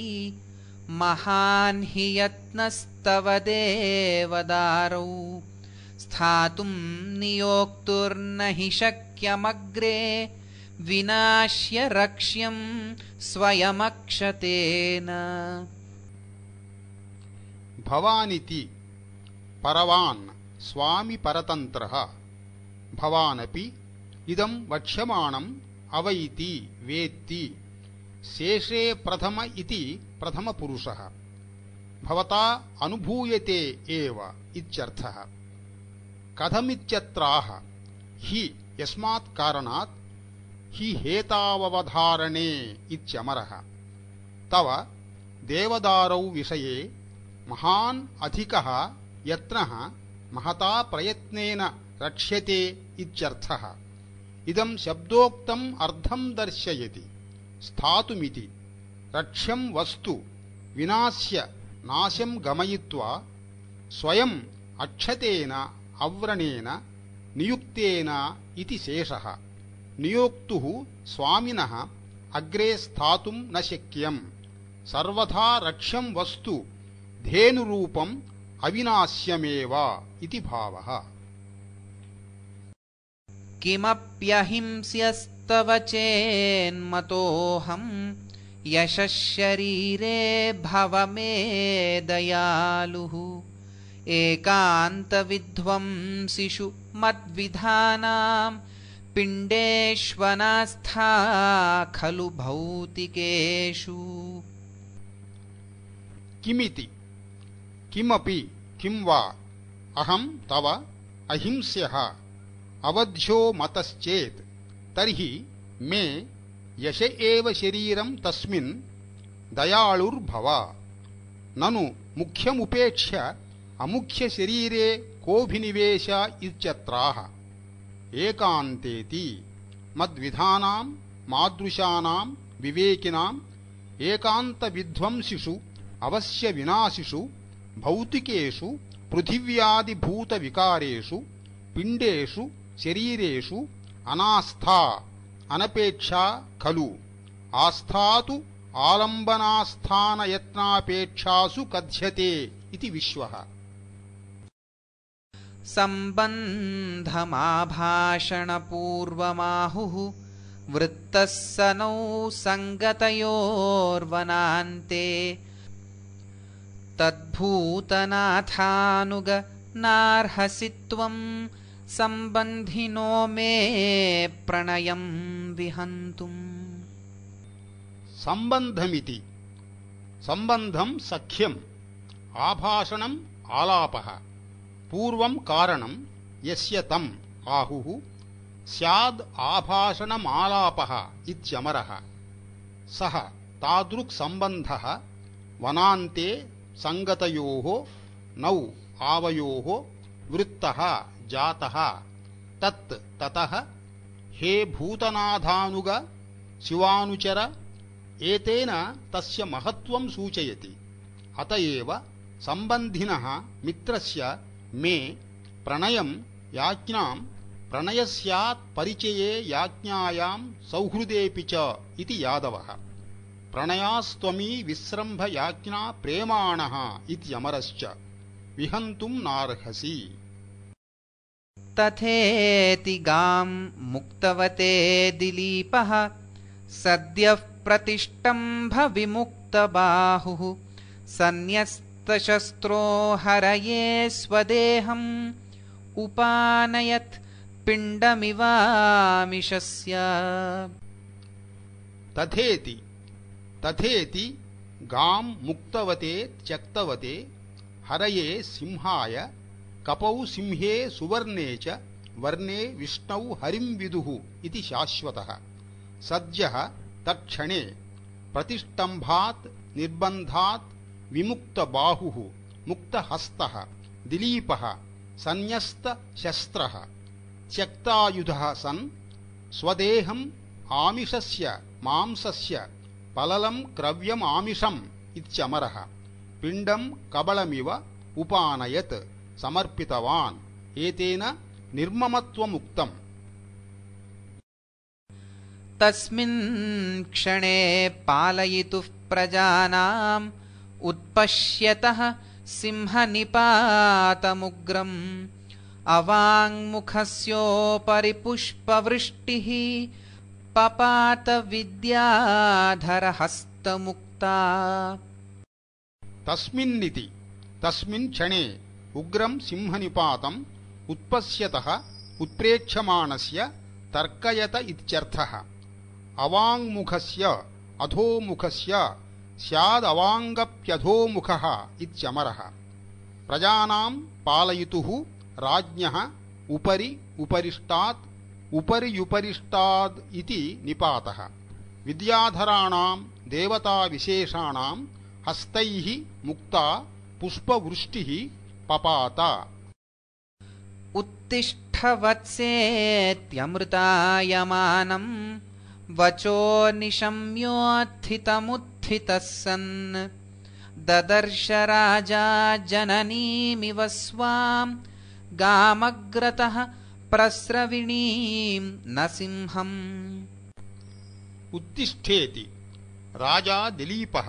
महान् हि यत्नस्तव देवदारौ स्थातुं नियोक्तुर्न हि शक्यमग्रे विनाश्य रक्ष्यं स्वयमक्षतेन। भवानिति परवान् स्वामी परतन्त्रः। भवानपि इदं वक्ष्यमाणम् अवैति वेत्ति। शेषे प्रथम इति प्रथमपुरुषः। भवता अनुभूयते एव इत्यर्थः। कथमित्यत्राह हि यस्मात् कारणात् हि हेताववधारणे इत्यमरः। तव देवदारौ विषये महान् अधिकः यत्नः महता प्रयत्नेन रक्ष्यते इत्यर्थः। इदं शब्दोक्तम् अर्थं दर्शयति। स्थातुमिति रक्ष्यं वस्तु विनाश्य नाशं गमयित्वा स्वयम् अक्षतेन अव्रणेन नियुक्तेन इति शेषः। नियोक्तुः स्वामिनः अग्रे स्थातुं न शक्यम् सर्वथा रक्ष्यं वस्तु धेनुरूपम् अविनाश्यमेव इति भावः। किमप्यहिंस्यस्तव चेन्मतोऽहम् यशः शरीरे भव मे दयालुः एकान्तविध्वंसिषु मद्विधानां पिण्डेष्वनास्था खलु भौतिकेषु। किमिति किमपि किं वा अहं तव अहिंस्यः अवध्यो मतश्चेत् तर्हि मे यश एव शरीरं तस्मिन् दयालुर्भव। ननु मुख्यमुपेक्ष्य अमुख्यशरीरे कोऽभिनिवेश इत्यत्राह। एकान्तेति मद्विधानां मादृशानां विवेकिनाम् एकान्तविध्वंसिषु अवश्यविनाशिषु भौतिकेषु पृथिव्यादिभूतविकारेषु पिण्डेषु शरीरेषु अनास्था अनपेक्षा खलु। आस्था तु आलम्बनास्थानयत्नापेक्षासु कथ्यते इति विश्वः। सम्बन्धमाभाषणपूर्वमाहुः वृत्तः सनौ सङ्गतयोर्वनान्ते तद्भूतनाथानुग नार्हसि त्वं सम्बन्धिनो मे प्रणयं विहन्तुम्। सम्बन्धमिति सम्बन्धं सख्यम् आभाषणम् आलापः पूर्वं कारणं यस्य तम् आहुः स्याद् आभाषणमालापः इत्यमरः। सः तादृक् सम्बन्धः वनान्ते सङ्गतयोः नौ आवयोः वृत्तः जातः तत् ततः हे भूतनाथानुग शिवानुचर एतेन तस्य महत्त्वं सूचयति। अत एव सम्बन्धिनः मित्रस्य मे प्रणयं याज्ञां प्रणयस्यात् परिचये याज्ञायां सौहृदेऽपि च इति यादवः। प्रणयास्त्वमी विस्रम्भ याज्ञा प्रेमाणः इत्यमरश्च विहन्तुं नार्हसि। तथेति गां मुक्तवते दिलीपः सद्यः प्रतिष्टम्भ विमुक्तबाहुः सन्न्यस्तशस्त्रो हरये स्वदेहम् उपानयत् पिण्डमिवामिषस्य। तथेति गां मुक्तवते त्यक्तवते हरये सिंहाय कपौ सिंहे सुवर्णे च वर्णे विष्णौ हरिं विदुः इति शाश्वतः। सद्यः तत्क्षणे प्रतिष्टम्भात् निर्बन्धात् विमुक्तबाहुः मुक्तहस्तः दिलीपः सन्न्यस्तशस्त्रः त्यक्तायुधः सन् स्वदेहम् आमिषस्य मांसस्य पललं क्रव्यमामिषम् इत्यमरः पिण्डं कबलमिव उपानयत् समर्पितवान् एतेन निर्ममत्वमुक्तम्। तस्मिन् क्षणे पालयितुः प्रजानाम् उत्पश्यतः सिंहनिपातमुग्रम् अवाङ्मुखस्योपरि पुष्पवृष्टिः पपात विद्याधरहस्तमुक्ता। तस्मिन्निति तस्मिन् क्षणे उग्रं सिंहनिपातम् उत्पश्यतः उत्प्रेक्ष्यमाणस्य तर्कयत इत्यर्थः। अवाङ्मुखस्य अधोमुखस्य स्यादवाङ्गप्यधोमुखः इत्यमरः। प्रजानां पालयितुः राज्ञः उपरि उपरिष्टात् उपर्युपरिष्टाद् इति निपातः। विद्याधराणां देवताविशेषाणां हस्तैः मुक्ता पुष्पवृष्टिः पपात। उत्तिष्ठ वत्सेत्यमृतायमानम् वचो निशम्योत्थितमुत्थितः सन् ददर्श राजा जननीमिव स्वाम् गामग्रतः प्रस्रविणीं न सिंहम् उत्तिष्ठेति राजा दिलीपः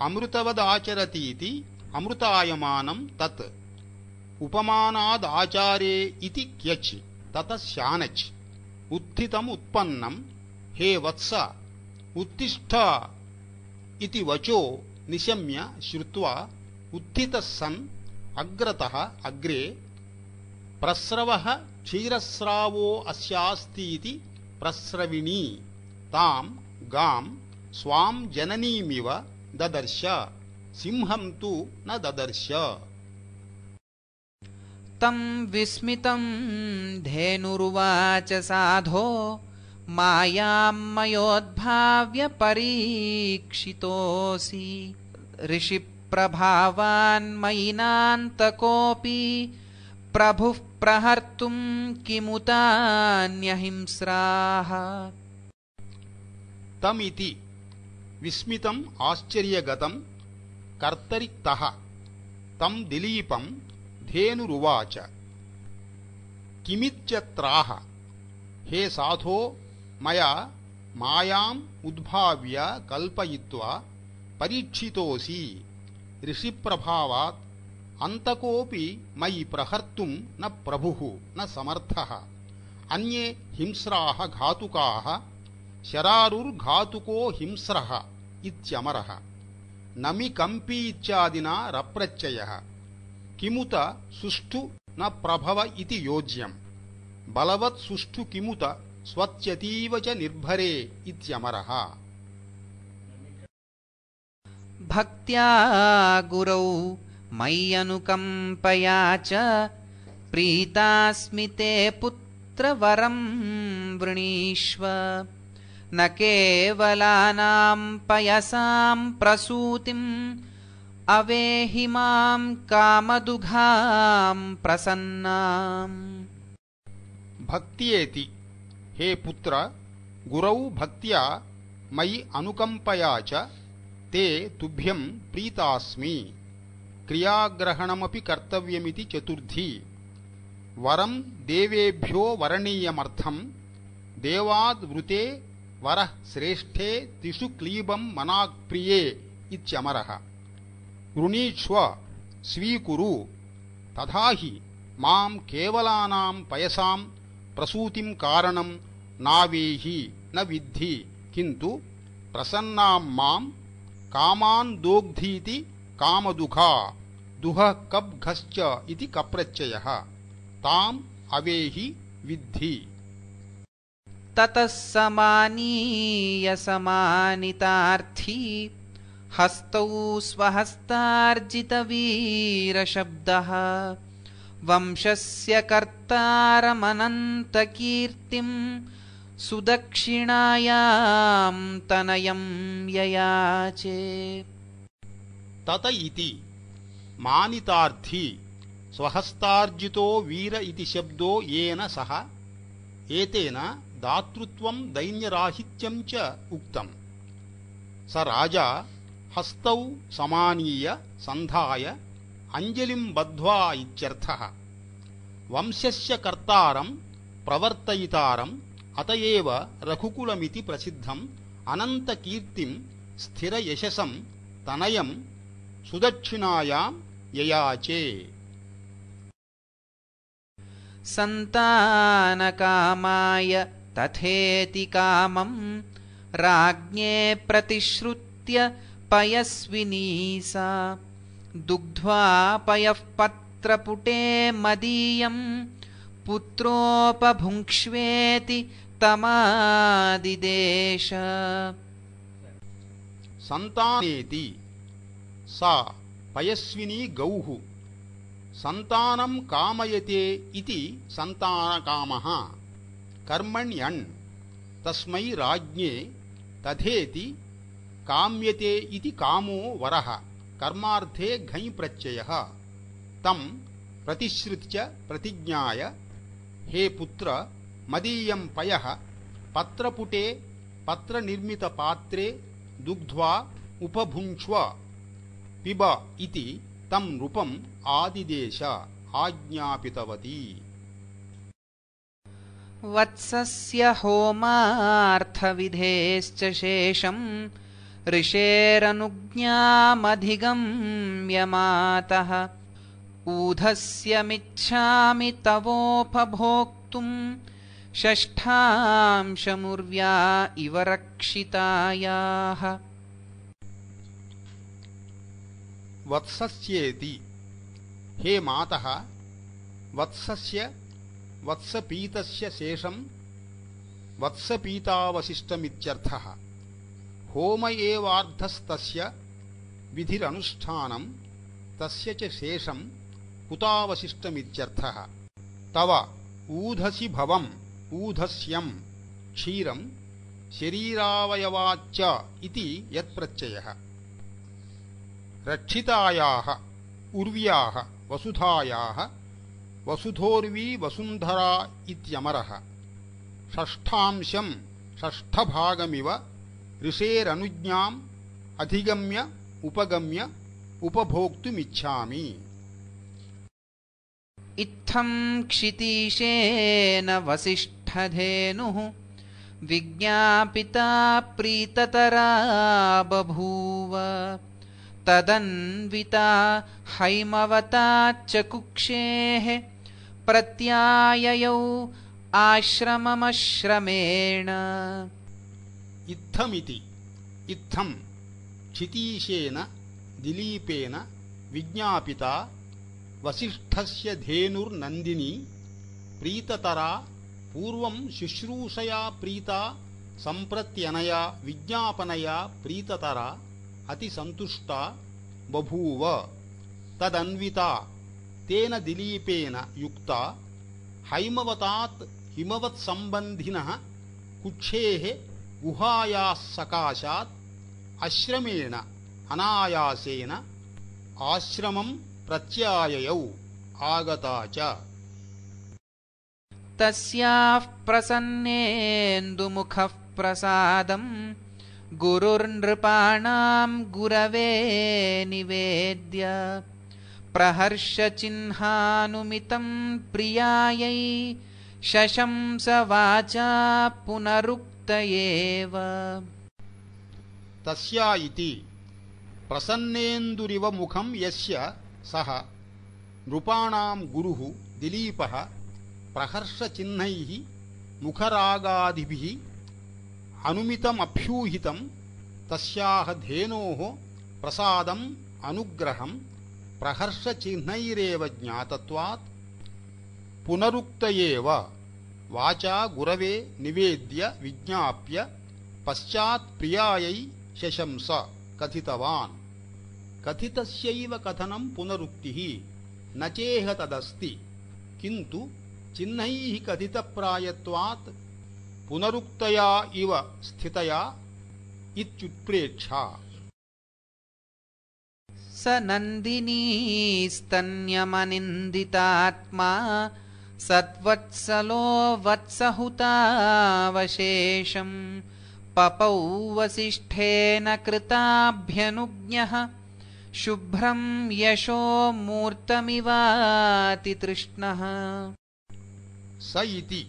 अमृतवदाचरतीति अमृतायमानं तत् उपमानादाचारे इति क्यच् ततः शानच् उत्थितम् उत्पन्नं हे वत्स उत्तिष्ठ इति वचो निशम्य श्रुत्वा उत्थितः सन् अग्रतः अग्रे प्रस्रवः क्षीरस्रावो अस्यास्तीति प्रस्रविणी तां गां स्वां जननीमिव ददर्श सिंहं तु न ददर्श तं विस्मितं धेनुरुवाच साधो मायां मयोद्भाव्य परीक्षितोऽसि ऋषिप्रभावान्मयिनान्तकोऽपि प्रभुः प्रहर्तुं किमुतान्यहिंस्राः तमिति विस्मितम् आश्चर्यगतं कर्तरिक्तः तं दिलीपं धेनुरुवाच किमित्यत्राह हे साधो मया मायाम् उद्भाव्य कल्पयित्वा परीक्षितोऽसि ऋषिप्रभावात् अन्तकोऽपि मयि प्रहर्तुं न प्रभुः न समर्थः अन्ये हिंस्राः घातुकाः शरारुर्घातुको हिंस्रः इत्यमरः नमि कम्पी इत्यादिना रप्रत्ययः किमुत सुष्ठु न प्रभव इति योज्यम् बलवत् सुष्ठु किमुत स्वत्यतीव च निर्भरे इत्यमरः भक्त्या गुरौ मय्यनुकम्पया च प्रीतास्मि ते पुत्रवरं वृणीष्व न केवलानां पयसां प्रसूतिम् अवेहि मां कामदुघां प्रसन्नाम् भक्त्येति हे पुत्र गुरौ भक्त्या मयि अनुकम्पया च ते तुभ्यं प्रीतास्मि क्रियाग्रहणमपि कर्तव्यमिति चतुर्थी वरं देवेभ्यो वरणीयमर्थं देवाद्वृते वरः श्रेष्ठे तिषु क्लीबं मनाक्प्रिये इत्यमरः वृणीष्व स्वीकुरु तथा हि मां केवलानां पयसां प्रसूतिं कारणं नावेहि न विद्धि किन्तु प्रसन्नां मां कामान् दोग्धीति कामदुघा दुहः कब्घश्च इति कप्रत्ययः ताम् अवेहि विद्धि ततः समानीय समानितार्थी हस्तौ स्वहस्तार्जितवीरशब्दः वंशस्य कर्तारमनन्तकीर्तिं सुदक्षिणायां तनयं ययाचे तत इति मानितार्थी स्वहस्तार्जितो वीर इति शब्दो येन सह एतेन दातृत्वं दैन्यराहित्यं च उक्तम् स राजा हस्तौ समानीय सन्धाय अंजलिं बद्ध्वा इत्यर्थः वंशस्य कर्तारं प्रवर्तयितारम् अतएव रघुकुलमिति प्रसिद्धम् अनन्तकीर्तिं स्थिरयशसं तनयं सुदक्षिणायां ययाचे सन्तानकामाय तथेति कामं राज्ञे प्रतिश्रुत्य पयस्विनी सा दुग्ध्वा पयः पत्रपुटे मदीयं पुत्रोपभुङ्क्ष्वेति तमादिदेश संतानेति सा पयस्विनी गौः संतानं कामयते इति संतानकामः कर्मण्यन् तस्मै राज्ञे तथेति काम्यते इति कामो वरः कर्मार्थे घञ् प्रत्ययः तं प्रतिश्रुत्य प्रतिज्ञाय हे पुत्र मदीयं पयः पत्रपुटे पत्रनिर्मितपात्रे दुग्ध्वा उपभुङ्क्ष्व पिब इति तं नृपम् आदिदेश आज्ञापितवती। वत्सस्य होमार्थविधेश्च शेषम् ऋषेरनुज्ञामधिगम्य मातः ऊधस्यमिच्छामि तवोपभोक्तुम् षष्ठांशमुर्व्या इव रक्षितायाः। वत्सस्येति हे मातः वत्सस्य वत्सपीतस्य शेषं वत्सपीतावशिष्टमित्यर्थः। होम एवार्धस्तस्य विधिरनुष्ठानं तस्य च शेषं कुतावशिष्टमित्यर्थः। तव ऊधसि भवम् ऊधस्यं क्षीरं शरीरावयवाच्च इति यत्प्रत्ययः। रक्षितायाः उर्व्याः वसुधायाः वसुधोर्वी वसुन्धरा इत्यमरः। षष्ठांशं षष्ठभागमिव ऋषेरनुज्ञाम् अधिगम्य उपगम्य उपभोक्तुमिच्छामि। इत्थं क्षितीशेन वसिष्ठधेनुः विज्ञापिता प्रीततरा बभूव तदन्विता हैमवताच्च कुक्षेः प्रत्याययौ आश्रममश्रमेण। इत्थमिति इत्थं क्षितीशेन दिलीपेन विज्ञापिता वसिष्ठस्य धेनुर्नन्दिनी प्रीततरा पूर्वं शुश्रूषया प्रीता सम्प्रत्यनया विज्ञापनया प्रीततरा अतिसन्तुष्टा बभूव। तदन्विता तेन दिलीपेन युक्ता हैमवतात् हिमवत्सम्बन्धिनः कुक्षेः गुहायाः सकाशात् आश्रमेण अनायासेन आश्रमं प्रत्याययौ आगता च। तस्याः प्रसन्नेन्दुमुखः प्रसादं गुरुर्नृपाणां गुरवे निवेद्य प्रहर्षचिह्नानुमितं प्रियायै शशंस वाचा पुनरुक्त एव। तस्या इति प्रसन्नेन्दुरिव मुखं यस्य सः नृपाणां गुरुः दिलीपः प्रहर्षचिह्नैः मुखरागादिभिः अनुमितमभ्यूहितं तस्याः धेनोः प्रसादम् अनुग्रहं प्रहर्षचिह्नैरेव ज्ञातत्वात् पुनरुक्त एव वाचा गुरवे निवेद्य विज्ञाप्य पश्चात् प्रियायै शशंस कथितवान्। कथितस्यैव कथनं पुनरुक्तिः न चेह तदस्ति किन्तु चिह्नैः कथितप्रायत्वात् पुनरुक्तया इव स्थितया इत्युत्प्रेक्षा। स नन्दिनीस्तन्यमनिन्दितात्मा सद्वत्सलो वत्सहुतावशेषम् पपौ वसिष्ठेन कृताभ्यनुज्ञः शुभ्रं यशो मूर्तमिवातितृष्णः। स इति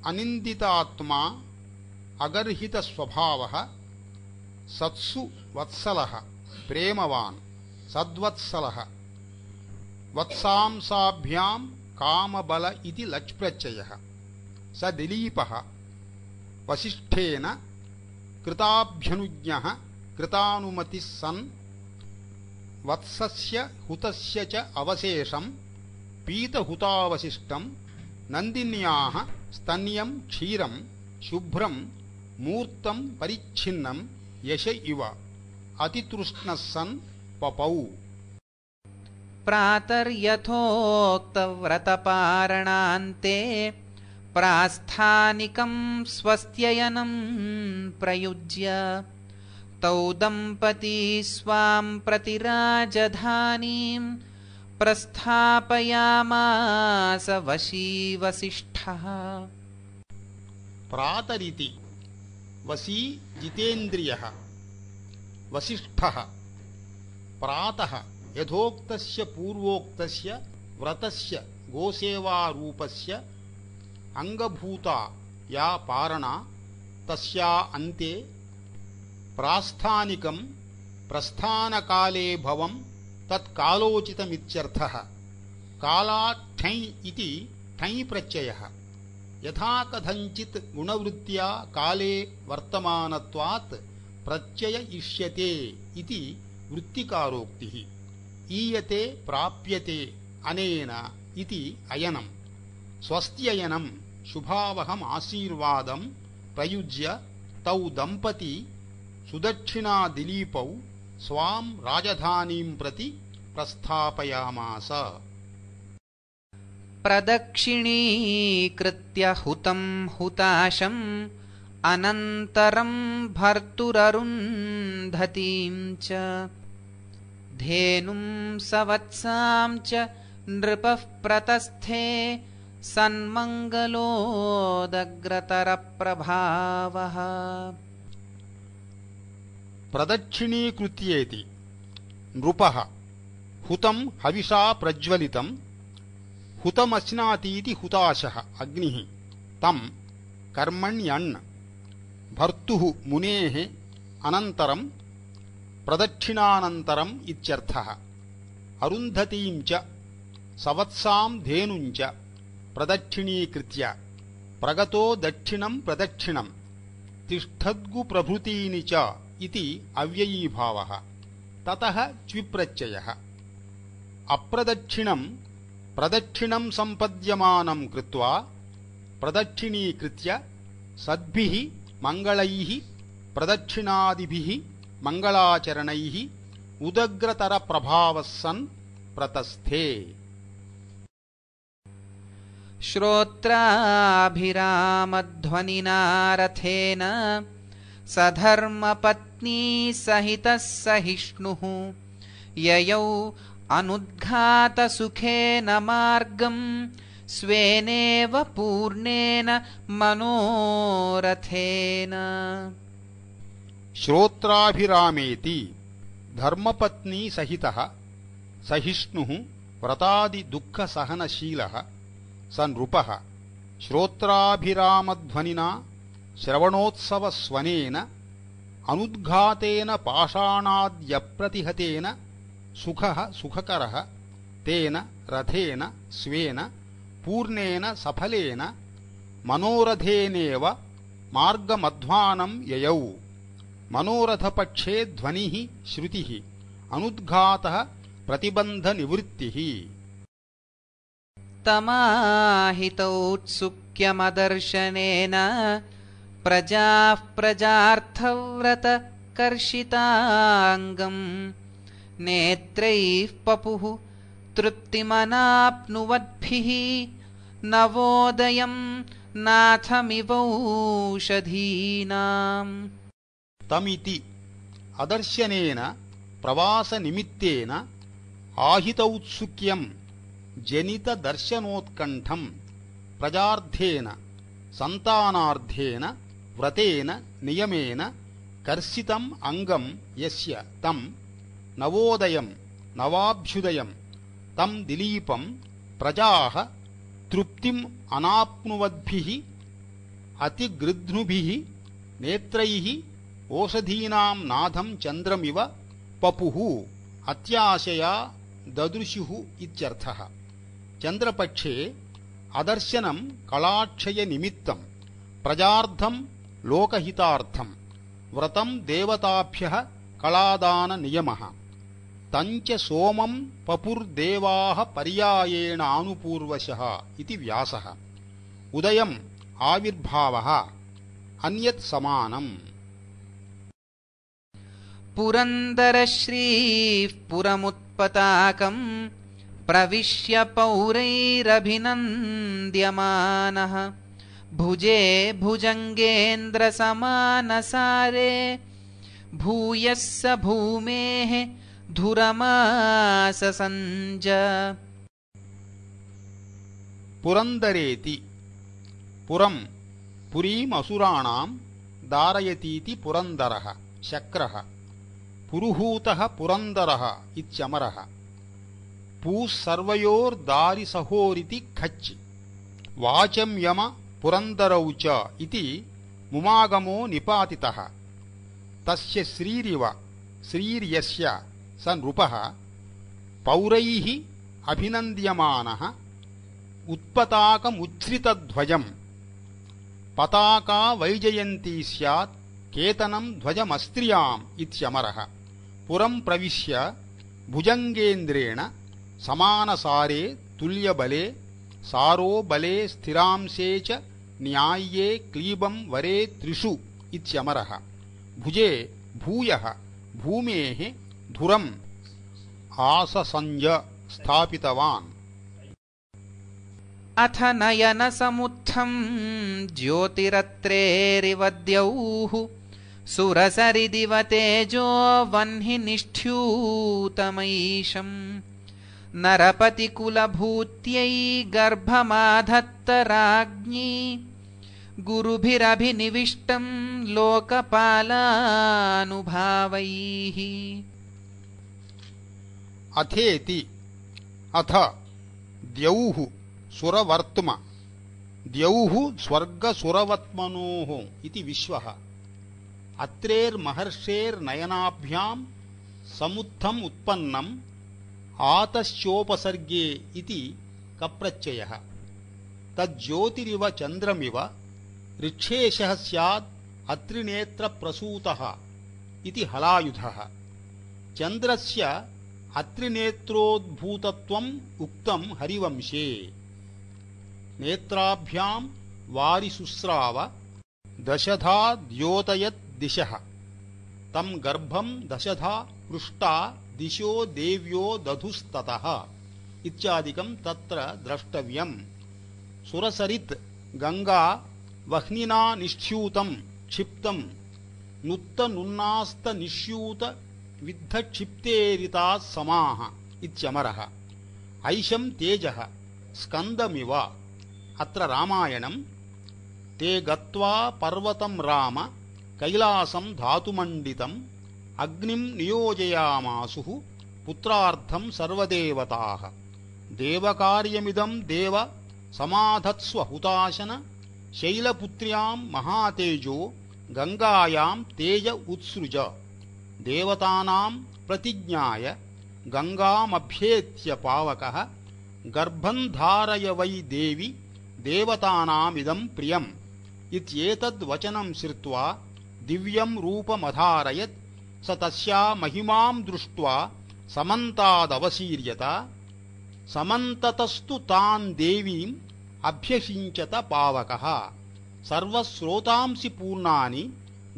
अनिन्दितात्मा अगर्हितस्वभावः सत्सु वत्सलः प्रेमवान् सद्वत्सलः वत्सांसाभ्यां कामबल इति लच् प्रत्ययः। स दिलीपः वसिष्ठेन कृताभ्यनुज्ञः कृतानुमतिः सन् वत्सस्य हुतस्य च अवशेषं पीतहुतावशिष्टं नन्दिन्याः स्तन्यं क्षीरं शुभ्रं मूर्तं परिच्छिन्नं यश इव अतितृष्णः सन् पपौ। प्रातर्यथोक्तव्रतपारणान्ते प्रास्थानिकं स्वस्त्ययनं प्रयुज्य तौ दम्पती स्वां प्रति राजधानीं प्रस्थापयामास वशी वसिष्ठः। प्रातरिति वसी जितेन्द्रियः वसिष्ठः प्रातः यथोक्तस्य पूर्वोक्तस्य व्रतस्य गोसेवारूपस्य अंगभूता या पारणा तस्या अन्ते प्रास्थानिकं प्रस्थानकाले भवं तत्कालोचितमित्यर्थः। कालात् ठञ् इति ठञ् प्रत्ययः यथा कथञ्चित् गुणवृत्त्या काले वर्तमानत्वात् प्रत्यय इष्यते इति वृत्तिकारोक्तिः। ईयते प्राप्यते अनेन इति अयनं। स्वस्त्ययनं शुभावहम् आशीर्वादं प्रयुज्य तौ दम्पती सुदक्षिणा दिलीपौ स्वां राजधानीं प्रति प्रस्थापयामास। प्रदक्षिणीकृत्य हुतं हुताशम् अनन्तरं भर्तुररुन्धतीं च धेनुं सवत्सां च नृपः प्रतस्थे सन्मङ्गलोदग्रतरप्रभावः। प्रदक्षिणीकृत्येति नृपः हुतं हविषा प्रज्वलितं हुतमश्नातीति हुताशः अग्निः तं कर्मण्यन् भर्तुः मुनेः अनन्तरं प्रदक्षिणानन्तरम् इत्यर्थः। अरुन्धतीं च सवत्सां धेनुं च प्रदक्षिणीकृत्य प्रगतो दक्षिणं प्रदक्षिणं तिष्ठद्गु प्रभृतीनि च इति अव्ययीभावः। ततः च्विप्रत्ययः। अप्रदक्षिणं प्रदक्षिणं सम्पद्यमानं कृत्वा प्रदक्षिणीकृत्य सद्भिः मङ्गलैः प्रदक्षिणादिभिः मङ्गलाचरणैः उदग्रतरप्रभावः सन् प्रतस्थे। श्रोत्राभिरामध्वनिना रथेन सधर्मपत्नी सहितः सहिष्णुः ययौ अनुद्घातसुखेन मार्गं स्वेनेव पूर्णेन मनोरथेन। श्रोत्राभिरामेति धर्मपत्नी सहितः सहिष्णुः व्रतादि दुःखसहनशीलः स नृपः श्रोत्राभिरामध्वनिना श्रवणोत्सवस्वनेन अनुद्घातेन पाषाणाद्यप्रतिहतेन सुखः सुखकरः तेन रथेन स्वेन पूर्णेन सफलेन मनोरथेनेव मार्गमध्वानं ययौ। मनोरथपक्षे ध्वनिः श्रुतिः अनुद्घातः प्रतिबन्धनिवृत्तिः। तमाहितौत्सुक्यमदर्शनेन प्रजाः प्रजार्थव्रतकर्षिताङ्गम् नेत्रैः पपुः तृप्तिमनाप्नुवद्भिः नवोदयं नाथमिवौषधीनाम्। तमिति अदर्शनेन प्रवासनिमित्तेन आहितौत्सुक्यं जनितदर्शनोत्कण्ठं प्रजार्थेन सन्तानार्थेन व्रतेन नियमेन कर्षितम् अंगं यस्य तं नवोदयं नवाभ्युदयं तं दिलीपं प्रजाः तृप्तिम् अनाप्नुवद्भिः अतिगृध्नुभिः नेत्रैः ओषधीनां नाथं चन्द्रमिव पपुः अत्याशया ददृशुः इत्यर्थः। चन्द्रपक्षे अदर्शनं कलाक्षयनिमित्तं प्रजार्थं लोकहितार्थं व्रतं देवताभ्यः कलादाननियमः तञ्च सोमं पपुर्देवाः पर्यायेण आनुपूर्वशः इति व्यासः। उदयम् आविर्भावः अन्यत् समानम्। पुरन्दरश्रीः पुरमुत्पताकम् प्रविश्य पौरैरभिनन्द्यमानः भुजे भुजङ्गेन्द्रसमानसारे भूयः स भूमेः धुरमाससञ्ज। पुरन्दरेति पुरं पुरीमसुराणां दारयतीति पुरन्दरः शक्रः पुरुहूतः पुरन्दरः इत्यमरः पूः सर्वयोर्दारिसहोरिति खच् वाचं यम पुरन्दरौ च इति मुमागमो निपातितः। तस्य श्रीरिव श्रीर्यस्य स नृपः पौरैः अभिनन्द्यमानः उत्पताकमुच्छ्रितध्वजम् पताका वैजयन्ती स्यात् केतनं ध्वजमस्त्रियाम् इत्यमरः पुरं प्रविश्य भुजङ्गेन्द्रेण समानसारे तुल्यबले सारो बले स्थिरांशे च न्याय्ये क्लीबं वरे त्रिषु इत्यमरः भुजे भूयः भूमेः धुरम् आससंज स्थापितवान्। अथ नयनसमुत्थं ज्योतिरत्रेरिव द्यौः सुरसरिदिव तेजो वह्निनिष्ठ्यूतमैशम् नरपतिकुलभूत्यै गर्भमाधत्त राज्ञी गुरुभिरभिनिविष्टं लोकपालानुभावैः। अथेति अथ द्यौः सुरवर्त्म द्यौः स्वर्गसुरवत्मनोः इति विश्वः अत्रेर्महर्षेर्नयनाभ्यां समुत्थम् उत्पन्नम् आतश्चोपसर्गे इति कप्रत्ययः तज्ज्योतिरिव चन्द्रमिव ऋक्षेशः स्यात् अत्रिनेत्रप्रसूतः इति हलायुधः चन्द्रस्य अत्रिनेत्रोद्भूतत्वम् उक्तं हरिवंशे नेत्राभ्यां वारिशुस्राव दशधा द्योतयत् दिशः तं गर्भं दशधा पृष्टा दिशो देव्यो दधुस्ततः इत्यादिकं तत्र द्रष्टव्यम्। सुरसरित् गंगा वह्निना निष्ठ्यूतं क्षिप्तं नुत्तनुन्नास्त निष्यूत विद्धक्षिप्तेरिताः समाः इत्यमरः ऐशं तेजः स्कन्दमिव। अत्र रामायणं ते गत्वा पर्वतं राम कैलासं धातुमण्डितम् अग्निं नियोजयामासुः पुत्रार्थं सर्वदेवताः देवकार्यमिदं देव समाधत्स्व हुताशन शैलपुत्र्यां महातेजो गंगायां तेज उत्सृज देवतानां प्रतिज्ञाय गंगामभ्येत्य पावकः गर्भं धारय वै देवि देवतानामिदं प्रियम् इत्येतद्वचनं श्रुत्वा दिव्यं रूपमधारयत् स तस्या महिमां दृष्ट्वा समन्तादवसीर्यत समन्ततस्तु तान् देवीम् अभ्यषिञ्चत पावकः सर्वस्रोतांसि पूर्णानि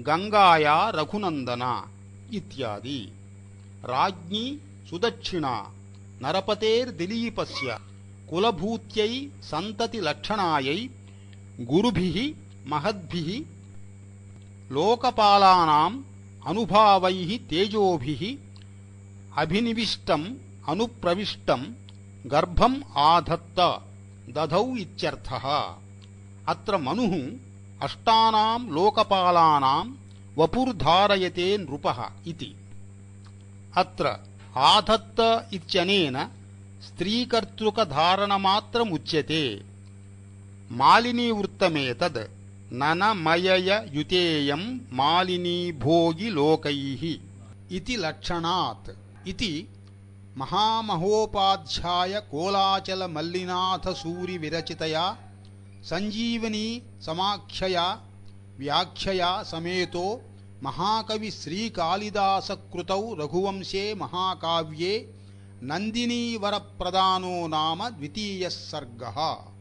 गंगाया रघुनन्दना इत्यादि। राज्ञी सुदक्षिणा नरपतेर्दिलीपस्य कुलभूत्यै सन्ततिलक्षणायै गुरुभिः महद्भिः लोकपालानाम् अनुभावैः तेजोभिः अभिनिविष्टम् अनुप्रविष्टम् गर्भम् आधत्त दधौ इत्यर्थः। अत्र मनुः अष्टानां लोकपालानां वपुर्धारयते नृपः इति। अत्र आधत्त इत्यनेन स्त्रीकर्तृकधारणमात्रमुच्यते। मालिनीवृत्तमेतद् ननमययुतेयं मालिनी भोगि लोकैः इति लक्षणात् इति महामहोपाध्याय कोलाचल मल्लिनाथ सूरि विरचितया संजीवनी समाख्यया व्याख्यया समेतो महाकवि श्रीकालिदास कृतौ रघुवंशे महाकाव्ये नन्दिनी वरप्रदानो नाम द्वितीयः सर्गः।